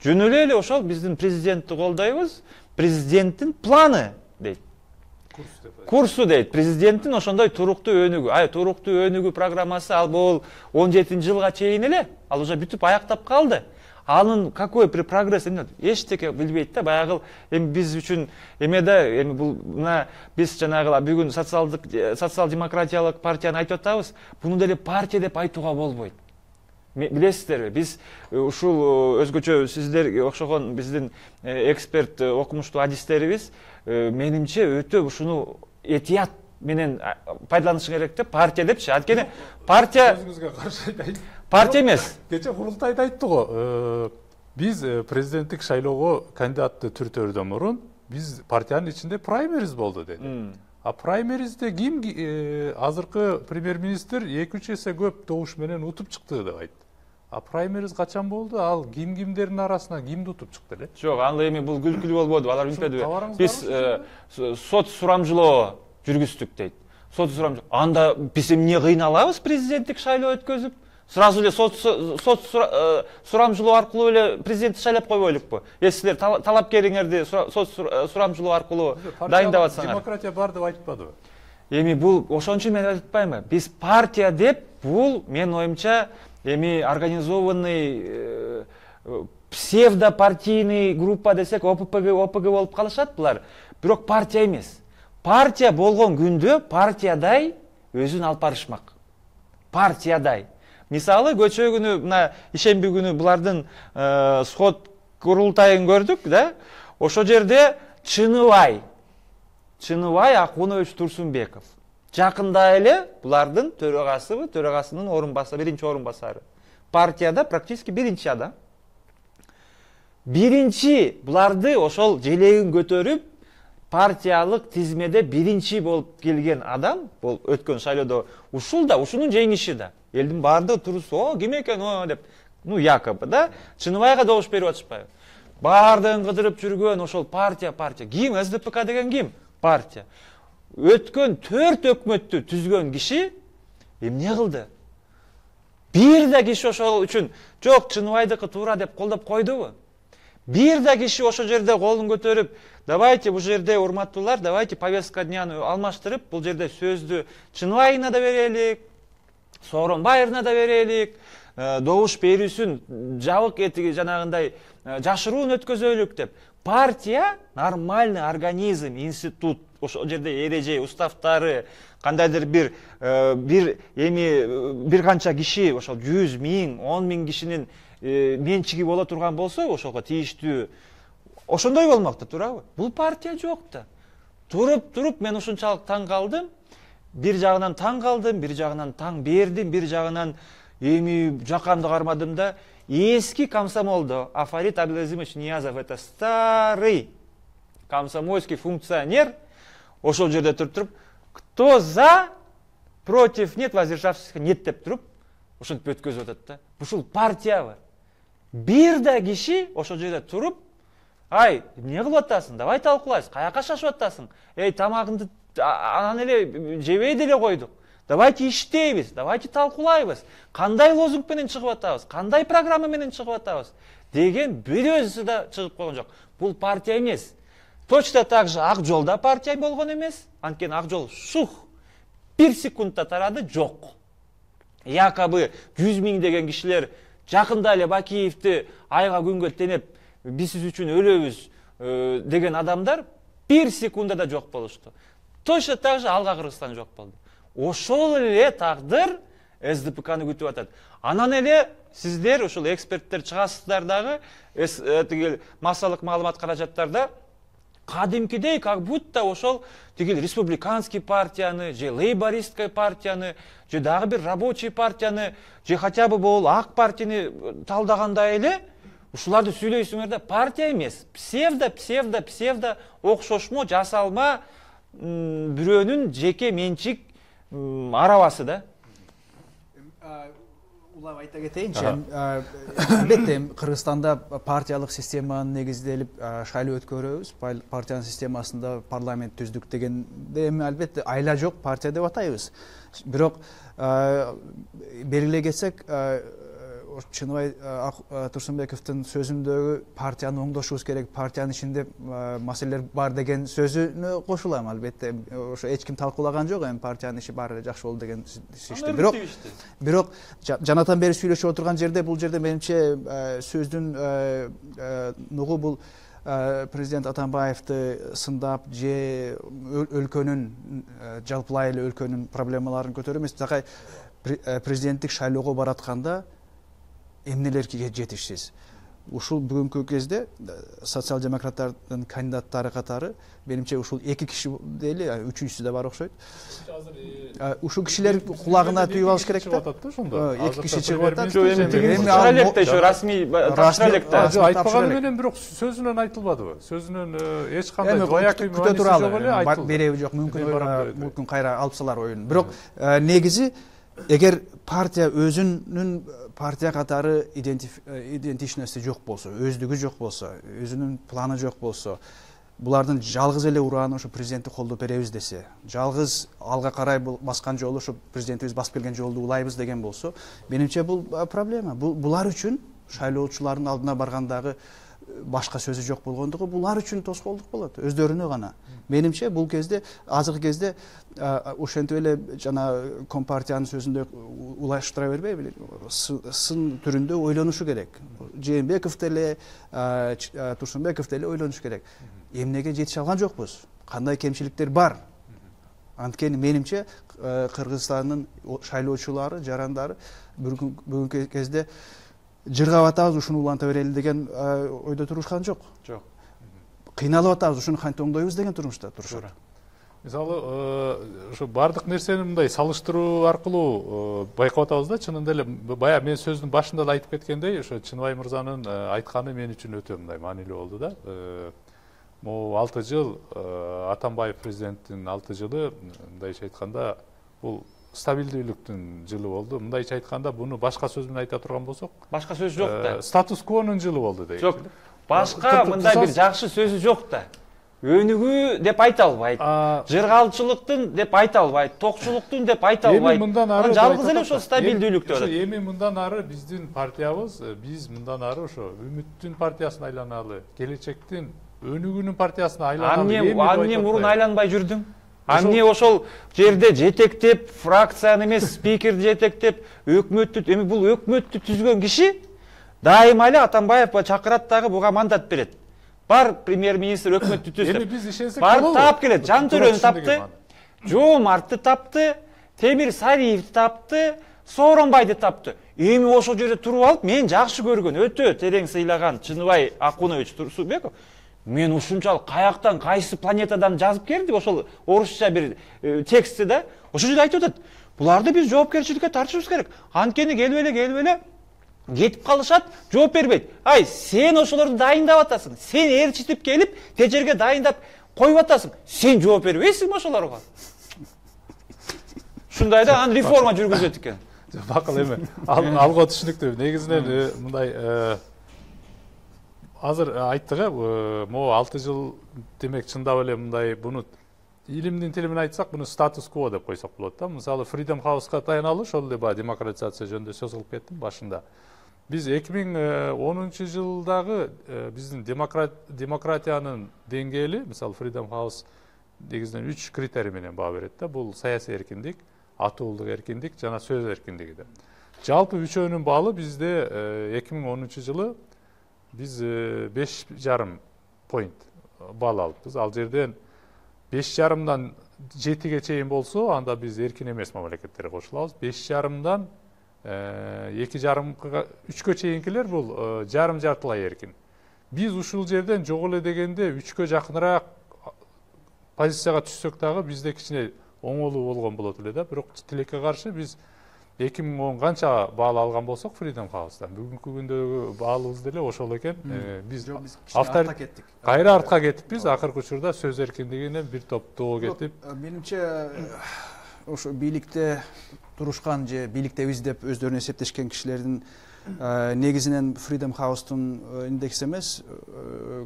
Жөн эле ошол биздин президентти колдойбуз, президенттин планы дейт. Курсу дейт. Президенттин ошондой туруктуу өнүгүү. Туруктуу өнүгүү программасы ал бул 17-жылга чейин эле, ал уже бүтүп аяктап калды. Анын какой прогресс эчтеке билбейт да. Баягы эми биз үчүн эмеде эми бул мына биз жанагы бүгүн социал-демократиялык партияны айтып атабыз. Буну деле партия деп айтууга болбойт. Билесиздерби, биз ушул өзгөчө сиздерге окшогон биздин эксперт окумуштуу адистерибиз менимче өтө ушуну этият менен пайдаланыш керек деп партия депчи. Анткени партия өзүңүзгө каршы айтайын. Партия эмес. Кече курултайда айтты го. Биз президенттик шайлоого кандидатты түртөөрдөн мурун биз партиянын ичинде праймериз болду деди. А праймеризде ким азыркы премьер-министр 2-3 эсе көп добуш менен утуп чыкты деп айтты. А праймериз качан болду? Ал кимдердин арасынан кимди утуп чыкты эле? Жок, анда эми бул күлкүлүү болбоду. Алар билбеди. Биз сот сурамжылоо жүргүздүк дейт. Сот сурамжылоо. Анда биз эмне кыйналабыз президенттик шайлоо өткөзүп? Сразу эле сот сурамжылоо аркылуу эле президентти шайлап койбойлукпу? Силер талапкериңерди сот сурамжылоо аркылуу дайындап атсаңар. Демократия бар деп айтпадыбы? Эми бул ошон үчүн мен айтпаймынбы? Биз партия деп бул менин оюмча эми организованный псевдопартийный группа десек ОПГ болуп калышат булар. Бирок партия эмес. Партия болгон күндө партиядай өзүн алып барышмак. Партиядай. Мисалы, көчө күнү, мына ишемби күнү булардын сот курултайын көрдүк, да? Ошо жерде Чыныбай Акунович Турсунбеков. Жакында эле булардын төрагасынын орунбасары, биринчи орунбасары. Партияда практически биринчи адам. Биринчи буларды ошол желегин көтөрүп, партиялык тизмеде биринчи болуп келген адам, бул өткөн шайлоодо ушунун жеңиши да. Элдин баардыгы турусу, ким экен деп, якобы да, Чыныбайга добуш берип атышпайбы? Баардыгын кыдырып жүргөн ошол партия. Ким? СДПК деген ким? Партия. Өткөн 4 өкмөттү түзгөн киши эмне кылды? Бир да киши ошол үчүн жок, Чыныбайдыкы туура деп колдоп койдубу? Бир да киши ошол жерде колун көтөрүп, давайте бул жерде урматтуулар, давайте повестка дняны алмаштырып, бул жерде сөздү Чыныбайына да берелик, Сооронбаевна да берелик, добуш берүүсүн жабык этиги жанагындай жашыруун өткөзөлүк деп. Партия нормальный организм, институт, ошол жерде эреже, уставтары, кандайдыр бир канча киши, ошол 100 миң, 10 миң кишинин менчиги боло турган болсо, ошого тийиштүү ошондой болмокта, туурабы? Бул партия жок да. Туруп мен ушунчалык таң калдым. Бир жагынан таң калдым, бир жагынан таң бердим, бир жагынан эми жакамды кармадым да. Эски комсомолдо Афарит Абдулазимович Ниязов, это старый комсомольский функционер, ошол жерде туруп, кто за, против, нет, воздержавшихся, нет деп туруп, ошентип өткөзүп атат да. Ушул партиябы? Бир да киши ошол жерде туруп, ай, эмне кылып атасың? Давай талкуулайбыз. Каяка шашып атасың? Эй, тамагыңды анан эле жебей деле койдук. Давайте иштейбиз, давайте талкуулайбыз. Кандай лозунг менен чыгып атабыз? Кандай программа менен чыгып атабыз? Деген бир өзү да чыгып койгон жок. Бул партия эмес. Точно так же Ак Жол да партия болгон эмес. Анткени Ак Жол шух 1 секундда тарады, жок. якобы 100 миң деген кишилер жакында эле Бакиевди айга күнгө тенеп биз сиз үчүн өлөбүз деген адамдар 1 секундада жок болушту. Точно так же Алга Кыргызстан жок болду. Ошол эле тагдыр СДПКны күтүп атат. Анан эле сиздер ушул эксперттер чыгасыздар дагы тигил массалык маалымат каражаттарда кадимкидей как будто ошол тигил республиканский партияны, же лейбористская партияны, же дагы бир рабочий партияны, же хотя бы бул ак партияны талдагандай эле ушуларды сүйлөйсүңөр да, партия эмес, псевдо окшошмо, жасалма бирөөнүн жеке менчик арабасы да. Улап айта кетейинчи, албетте Кыргызстанда партиялык системаны негизделип шайлоо өткөрөбүз. Партиянын системасында парламент түздүк дегенде эми албетте айла жок партия деп атайбыз. Бирок белгилей кетсек, Чыныбай Турсунбековдун сөзүндөгү партияны оңдошубуз керек, партиянын ичинде маселелер бар деген сөзүнө кошулам. Албетте ошо эч ким талкуулаган жок, эми партиянын иши баары жакшы болду деген ишти. Бирок жанатан бери сүйлөшүп отурган жерде, бул жерде менимче сөздүн нугу бул президент Атамбаевди сындап же өлкөнүн жалпылай эле өлкөнүн проблемаларын көтөрүү эмес, такай президенттик шайлоого баратканда эмнелерге жетишсиз. Ушул бүгүнкү кезде социал-демократтардын кандидаттары катары менимче ушул 2 киши дейли, үчүнчүсү да бар окшойт. Ушул кишилер кулагына түйүп алыш керек да. 2 киши чыгып атат. Эми ошо расмий тапшырылекте. Айтпаганы менен бирок сөзүнөн айтылбадыбы? Сөзүнөн эч кандай баягы күтө туралы береби жок, мүмкүн кайра алып салар оюн. Бирок негизи эгер партия өзүнүн партия катары идентичности жок болсо, өздүгү жок болсо, өзүнүн планы жок болсо, булардын жалгыз эле урааны ошо президентти колдоп беребиз десе, жалгыз алга карай баскан жолу ошо президентибиз басып келген жолду улайбыз деген болсо, менимче бул проблема. Булар үчүн шайлоочулардын алдына баргандагы башка сөзү жок болгондугу булар үчүн тоскоолдук болот, өздөрүнө гана. Менимче бул кезде, азыркы кезде ошентип эле жана Компартиянын сөзүндө улаштыра бербейби, сын түрүндө ойлонушу керек. Жээнбеков деле, Турсунбеков деле ойлонушу керек. Эмнеге жетише алган жокпуз? Кандай кемчиликтер бар? Анткени менимче Кыргызстандын шайлоочулары, жарандары бүгүнкү кезде жыргап атабыз, ушуну уланта берели деген ойдо турушкан жок. Жок. Кыйналып атабыз, ушуну кантип оңдойбуз деген турмушта турушат. Мисалы, ошо бардык нерсени мындай салыштыруу аркылуу байкап атабыз да, чынында эле баягы мен сөздүн башында да айтып кеткендей, ошо Чыныбай мырзанын айтканы мен үчүн өтө мындай маанилүү болду да. Могу 6 жыл Атамбаев президенттин 6 жылы мындайча айтканда бул стабилдүүлүктүн жылы болду. Мындайча айтканда буну башка сөз менен айта турган болсок, башка сөз жок да. Статус-квонун жылы болду дейт. Жок. Башка мындай бир жакшы сөзү жок да. Өнүгүү деп айта албайт. Жыргалчылыктын деп айта албайт. Токчулуктун деп айта албайт. Жалгыз эле ошо стабилдүүлүк деп атат. Эми мындан ары биздин партиябыз, биз мындан ары ошо үмүттүн партиясына айланалы, келечектин өнүгүүнүн партиясына айланалы. Эмне мурун айланбай жүрдүң? Эмне ошол жерде жетектеп, фракцияны эмес, спикерди жетектеп, өкмөттү, эми бул өкмөттү түзгөн киши дайыма эле Атамбаев чакырат дагы буга мандат берет. Бар премьер-министр өкмөттү түздү. Эми биз ишенсек болобу? Бар таап келет. Жантөрөнү тапты, Жоомартты тапты, Темир Сариевди тапты, Сооронбайды тапты. Эми ошол жерде туруп алып, мен жакшы көргөн, өтө терең сыйлаган Чыныбай Акунович Турсунбеков, мен ушунчалык каяктан, кайсы планетадан жазып келди, ошол орусча бир текстти да. Ошол жерде айтып атат. Буларды биз жоопкерчиликке тартышыбыз керек. Анткени келип эле кетип калышат, жооп бербейт. Ай, сен ошолорду дайындап атасың. Сен ээрчитип келип, тежерге дайындап коюп атасың. Сен жооп бербейсиңби ошолорго? Ушундай да, анан реформа жүргүзөт экен. Бакыл эми алга түшүнүктүү. Негизинен мындай азыр айттык, могу 6 жыл демек чындап эле мындай буну илимдин тили менен айтсак, буну статус-кво деп койсок болот да. Мисалы, Freedom House-га таяналы ошол эле баягы демократизация жөнүндө сөз кылып кеттим башында. Биз 2010 жылдагы биздин демократиянын деңгээли, мисалы Freedom House негизинен 3 критерий менен баа берет да. Бул саясий эркиндик, атуулдук эркиндик жана сөз эркиндиги деп. Жалпы үчөөнүн баалы бизде 2010 жылы биз 5,5 поинт балл алыппыз. Ал жерден 5,5дан 7ге чейин болсо, анда биз эркин эмес мамлекеттерге кошулабыз. 5,5дан 2,5 3кө чейинкилер бул жарым-жартылай эркин. Биз ушул жерден жок эле дегенде 3кө жакыныраак позицияга түшсөк дагы бизде кичине оңолуу болгон болот эле да. Бирок тилекке каршы биз 2010 канча баал алган болсок Freedom House'дан бүгүнкү күндөгү баалыбыз деле ошол экен. Биз артка кеттик. Кайра артка кеттикпиз. Акыркы учурда сөз эркиндигинен бир топ доо кетип. Менимче ошо бийликте турушкан же бийликтебиз деп өздөрүнө эсептешкен кишилердин негизинен Freedom House'тун индекси эмес,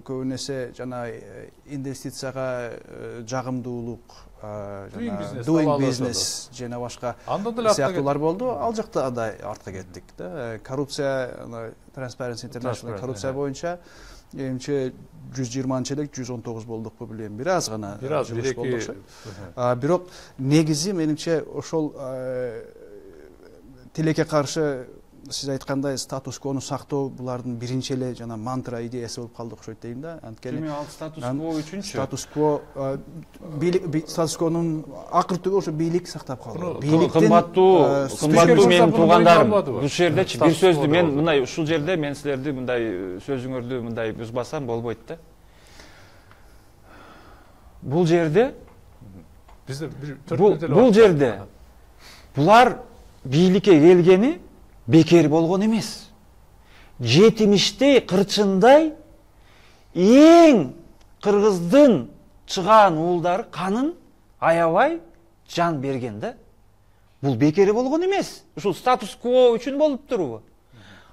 көбүн эсе жана инвестицияга жагымдуулук, doing business жана башка сыяктуулар болду. Ал жакта да артка кеттик да. Коррупция, Transparency International коррупция боюнча эмче 120 элек 119 болдукпу билем. Бир аз гана жумуш болду. Бирок негизи менимче ошол тилекке каршы сиз айткандай статус-квону сактоо булардын биринчи эле жана мантра идеясы болуп калды окшойт дейм да. Анткени ал статус-кво үчүнчү. Статус-квонун акыр түбү ошо бийлик сактап калды. Кымбаттуу менин туугандарым, бул жердечи бир сөздү мен мындай ушул жерде мен силерди мындай сөзүңөрдү мындай бузбасам болбойт да. Бул жерде бизде бул жерде булар бийликке келгени бекер болгон эмес. Жетимиштей, кырчындай эң кыргыздын чыгаан уулдары канын аябай жан берген да. Бул бекер болгон эмес. Ушул статус-кво үчүн болуп турбу.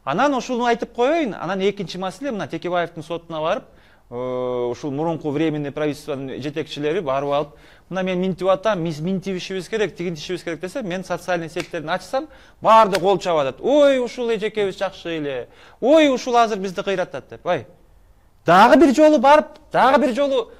Анан ушуну айтып коеюн. Анан экинчи маселе мына Текебаевдин сотуна барып, ушул мурунку временный правительствонун жетекчилери барып алып, мына мен минтип атам, минтибишибиз керек, тигинтишибиз керек десе, мен социальный сеттерин ачсам, баарды кол чабып атат. Ой, ушул эжекебиз жакшы эле. Ой, ушул азыр бизди кыйратат деп. Ай. Дагы бир жолу барып, дагы бир жолу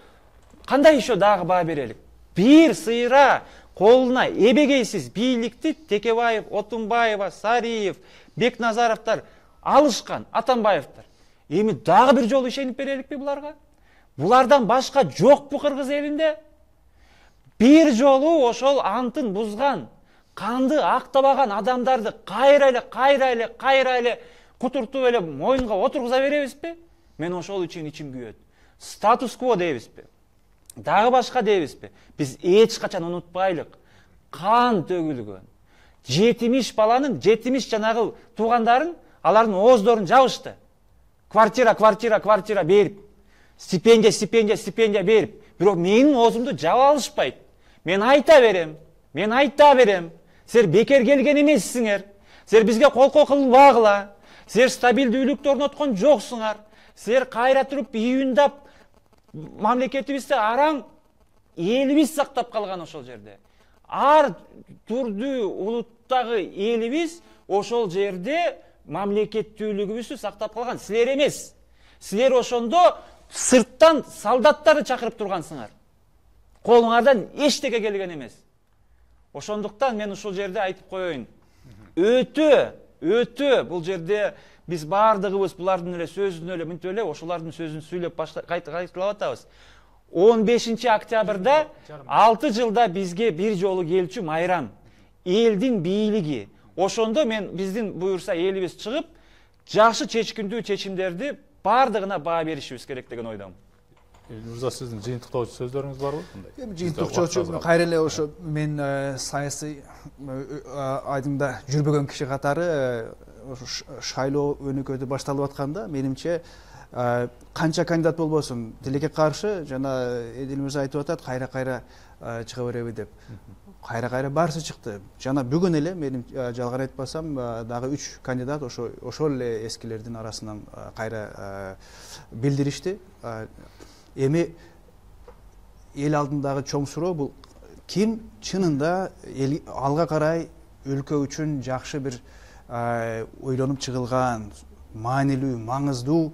кандай ишо дагы баа берелик? Бир сыйра колуна эбегейсиз бийликти Текебаев, Отунбаева, Сариев, Бекназаровдор алышкан, Атамбаевдор. Эми дагы бир жолу ишенип береликпи буларга? Булардан башка жокпу кыргыз элинде? Бир жолу ошол антын бузган, канды актабаган адамдарды кайра эле кутуртуп эле моюнга отургуза беребизби? Мен ошол үчүн ичим күйөт. Статус-кво дейбизби? Дагы башка дейбизби? Биз эч качан унутпайлык. Кан төгүлгөн. 70 баланын, 70 жанагы туугандарын, алардын ооздорун жабышты. Квартира берип, стипендия берип. Бирок менин оозумду жаба алышпайт. Мен айта берем. Силер бекер келген эмессиңер. Силер бизге колко кылбагыла. Силер стабилдүүлүктү орноткон жоксуңар. Силер кайра туруп үйүндап мамлекетибизди араң элибиз сактап калган ошол жерде. Ар түрдүү улуттагы элибиз ошол жерде мамлекеттүүлүгүбүздү сактап калган. Силер эмес. Силер ошондо сырттан солдаттарды чакырып тургансыңар. Колуңардан эчтеке келген эмес. Ошондуктан мен ушул жерде айтып коеюн. Өтө бул жерде биз баардыгыбыз булардын эле сөзүн эле мынтип эле ошолордун сөзүн сүйлөп кайталап атабыз. 15 октябрда 6 жылда бизге бир жолу келчү майрам. Элдин бийлиги. Ошондо мен биздин буюрса элибиз чыгып, жакшы чечкиндүү чечимдерди баардыгына баа беришибиз керек деген ойдомун. Мырза, сиздин жыйынтыктоочу сөздөрүңүз барбы? Жыйынтыктоочу кайра эле ошо мен саясий айдыңда жүрбөгөн киши катары шайлоо өнүкөтү башталып атканда менимче канча кандидат болбосун тилекке каршы жана Эдил мырза айтып атат кайра чыга береби деп. Кайра баарысы чыкты. Жана бүгүн эле менин жалган айтпасам дагы 3 кандидат ошол эле эскилердин арасынан кайра билдиришти. Эми эл алдындагы чоң суроо бул ким чынында алга карай өлкө үчүн жакшы бир ойлонуп чыгылган, маанилүү, маңыздуу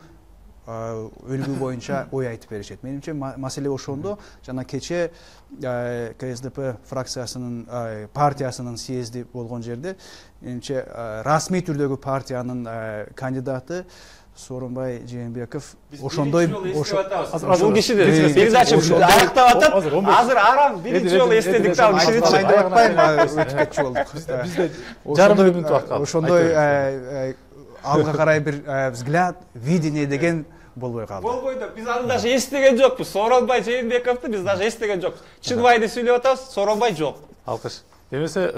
өлүгү боюнча ой айтып беришет. Менимче маселе ошондо. Жана кече КСДП фракциясынын партиясынын съезди болгон жерде менимче расмий түрдөгү партиянын кандидаты Сооронбай Жээнбеков ошондой бул кишиди передача аяктап атат. Азыр арам биринчи жолу эстедик да ал кишини. Айтып атпайм, өтүп кетчү болдук. Бизде жарым мүнөт убакыт калды. Ошондой алга карай бир взгляд, видение деген болбой калды. Болбойду. Биз аны даже эстеген жокпуз. Сооронбай Жээнбековду биз даже эстеген жокпуз. Чынбайды сүйлөп атабыз, Сооронбай жок. Алкыш. Эмесе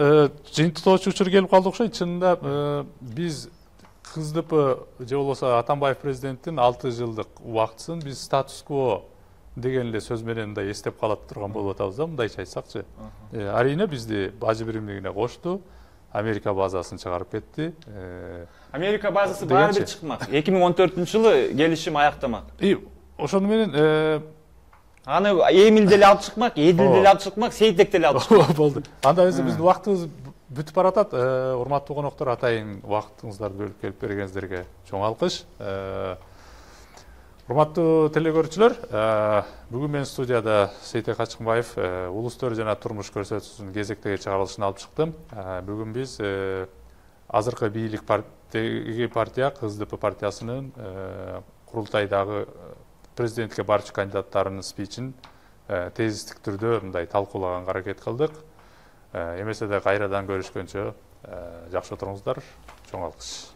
жыйынтыктоочу учур келип калды окшойт. Чынында биз КСДП же болбосо Атамбаев президенттин 6 жылдык убактысын биз статус-кво деген эле сөз менен мындай эстеп калат турган болуп атабыз да, мындайча айтсакчы. Арийне бизди бажы биримдигине кошту. Америка базасын чыгарып кетти. Америка базасы баары бир чыкмак. 2014-жылы келишим аяктамак. Ошону менен аны Эмил деле алып чыкмак, Эдил деле алып чыкмак, Сейтек деле алып чыкмак. Болду. Анда эмесе биздин убактыбыз бүтүп баратат. Урматтуу коноктор, атайын убактыңыздарды бөлүп келип бергениңиздерге чоң алкыш. Урматтуу телекөрүүчүлөр, бүгүн мен студияда Сейтек Качкынбаев улус төр жана турмуш көрсөтүүсүнүн кезектеги чыгарылышын алып чыктым. Бүгүн биз азыркы бийлик партия КСДП партиясынын курултайдагы президенттикке барчу кандидаттарынын спичин тезистик түрдө мындай талкуулаганга аракет кылдык. Эмесе да кайрадан көрүшкөнчө жакшы отуруңуздар. Чоң алкыш.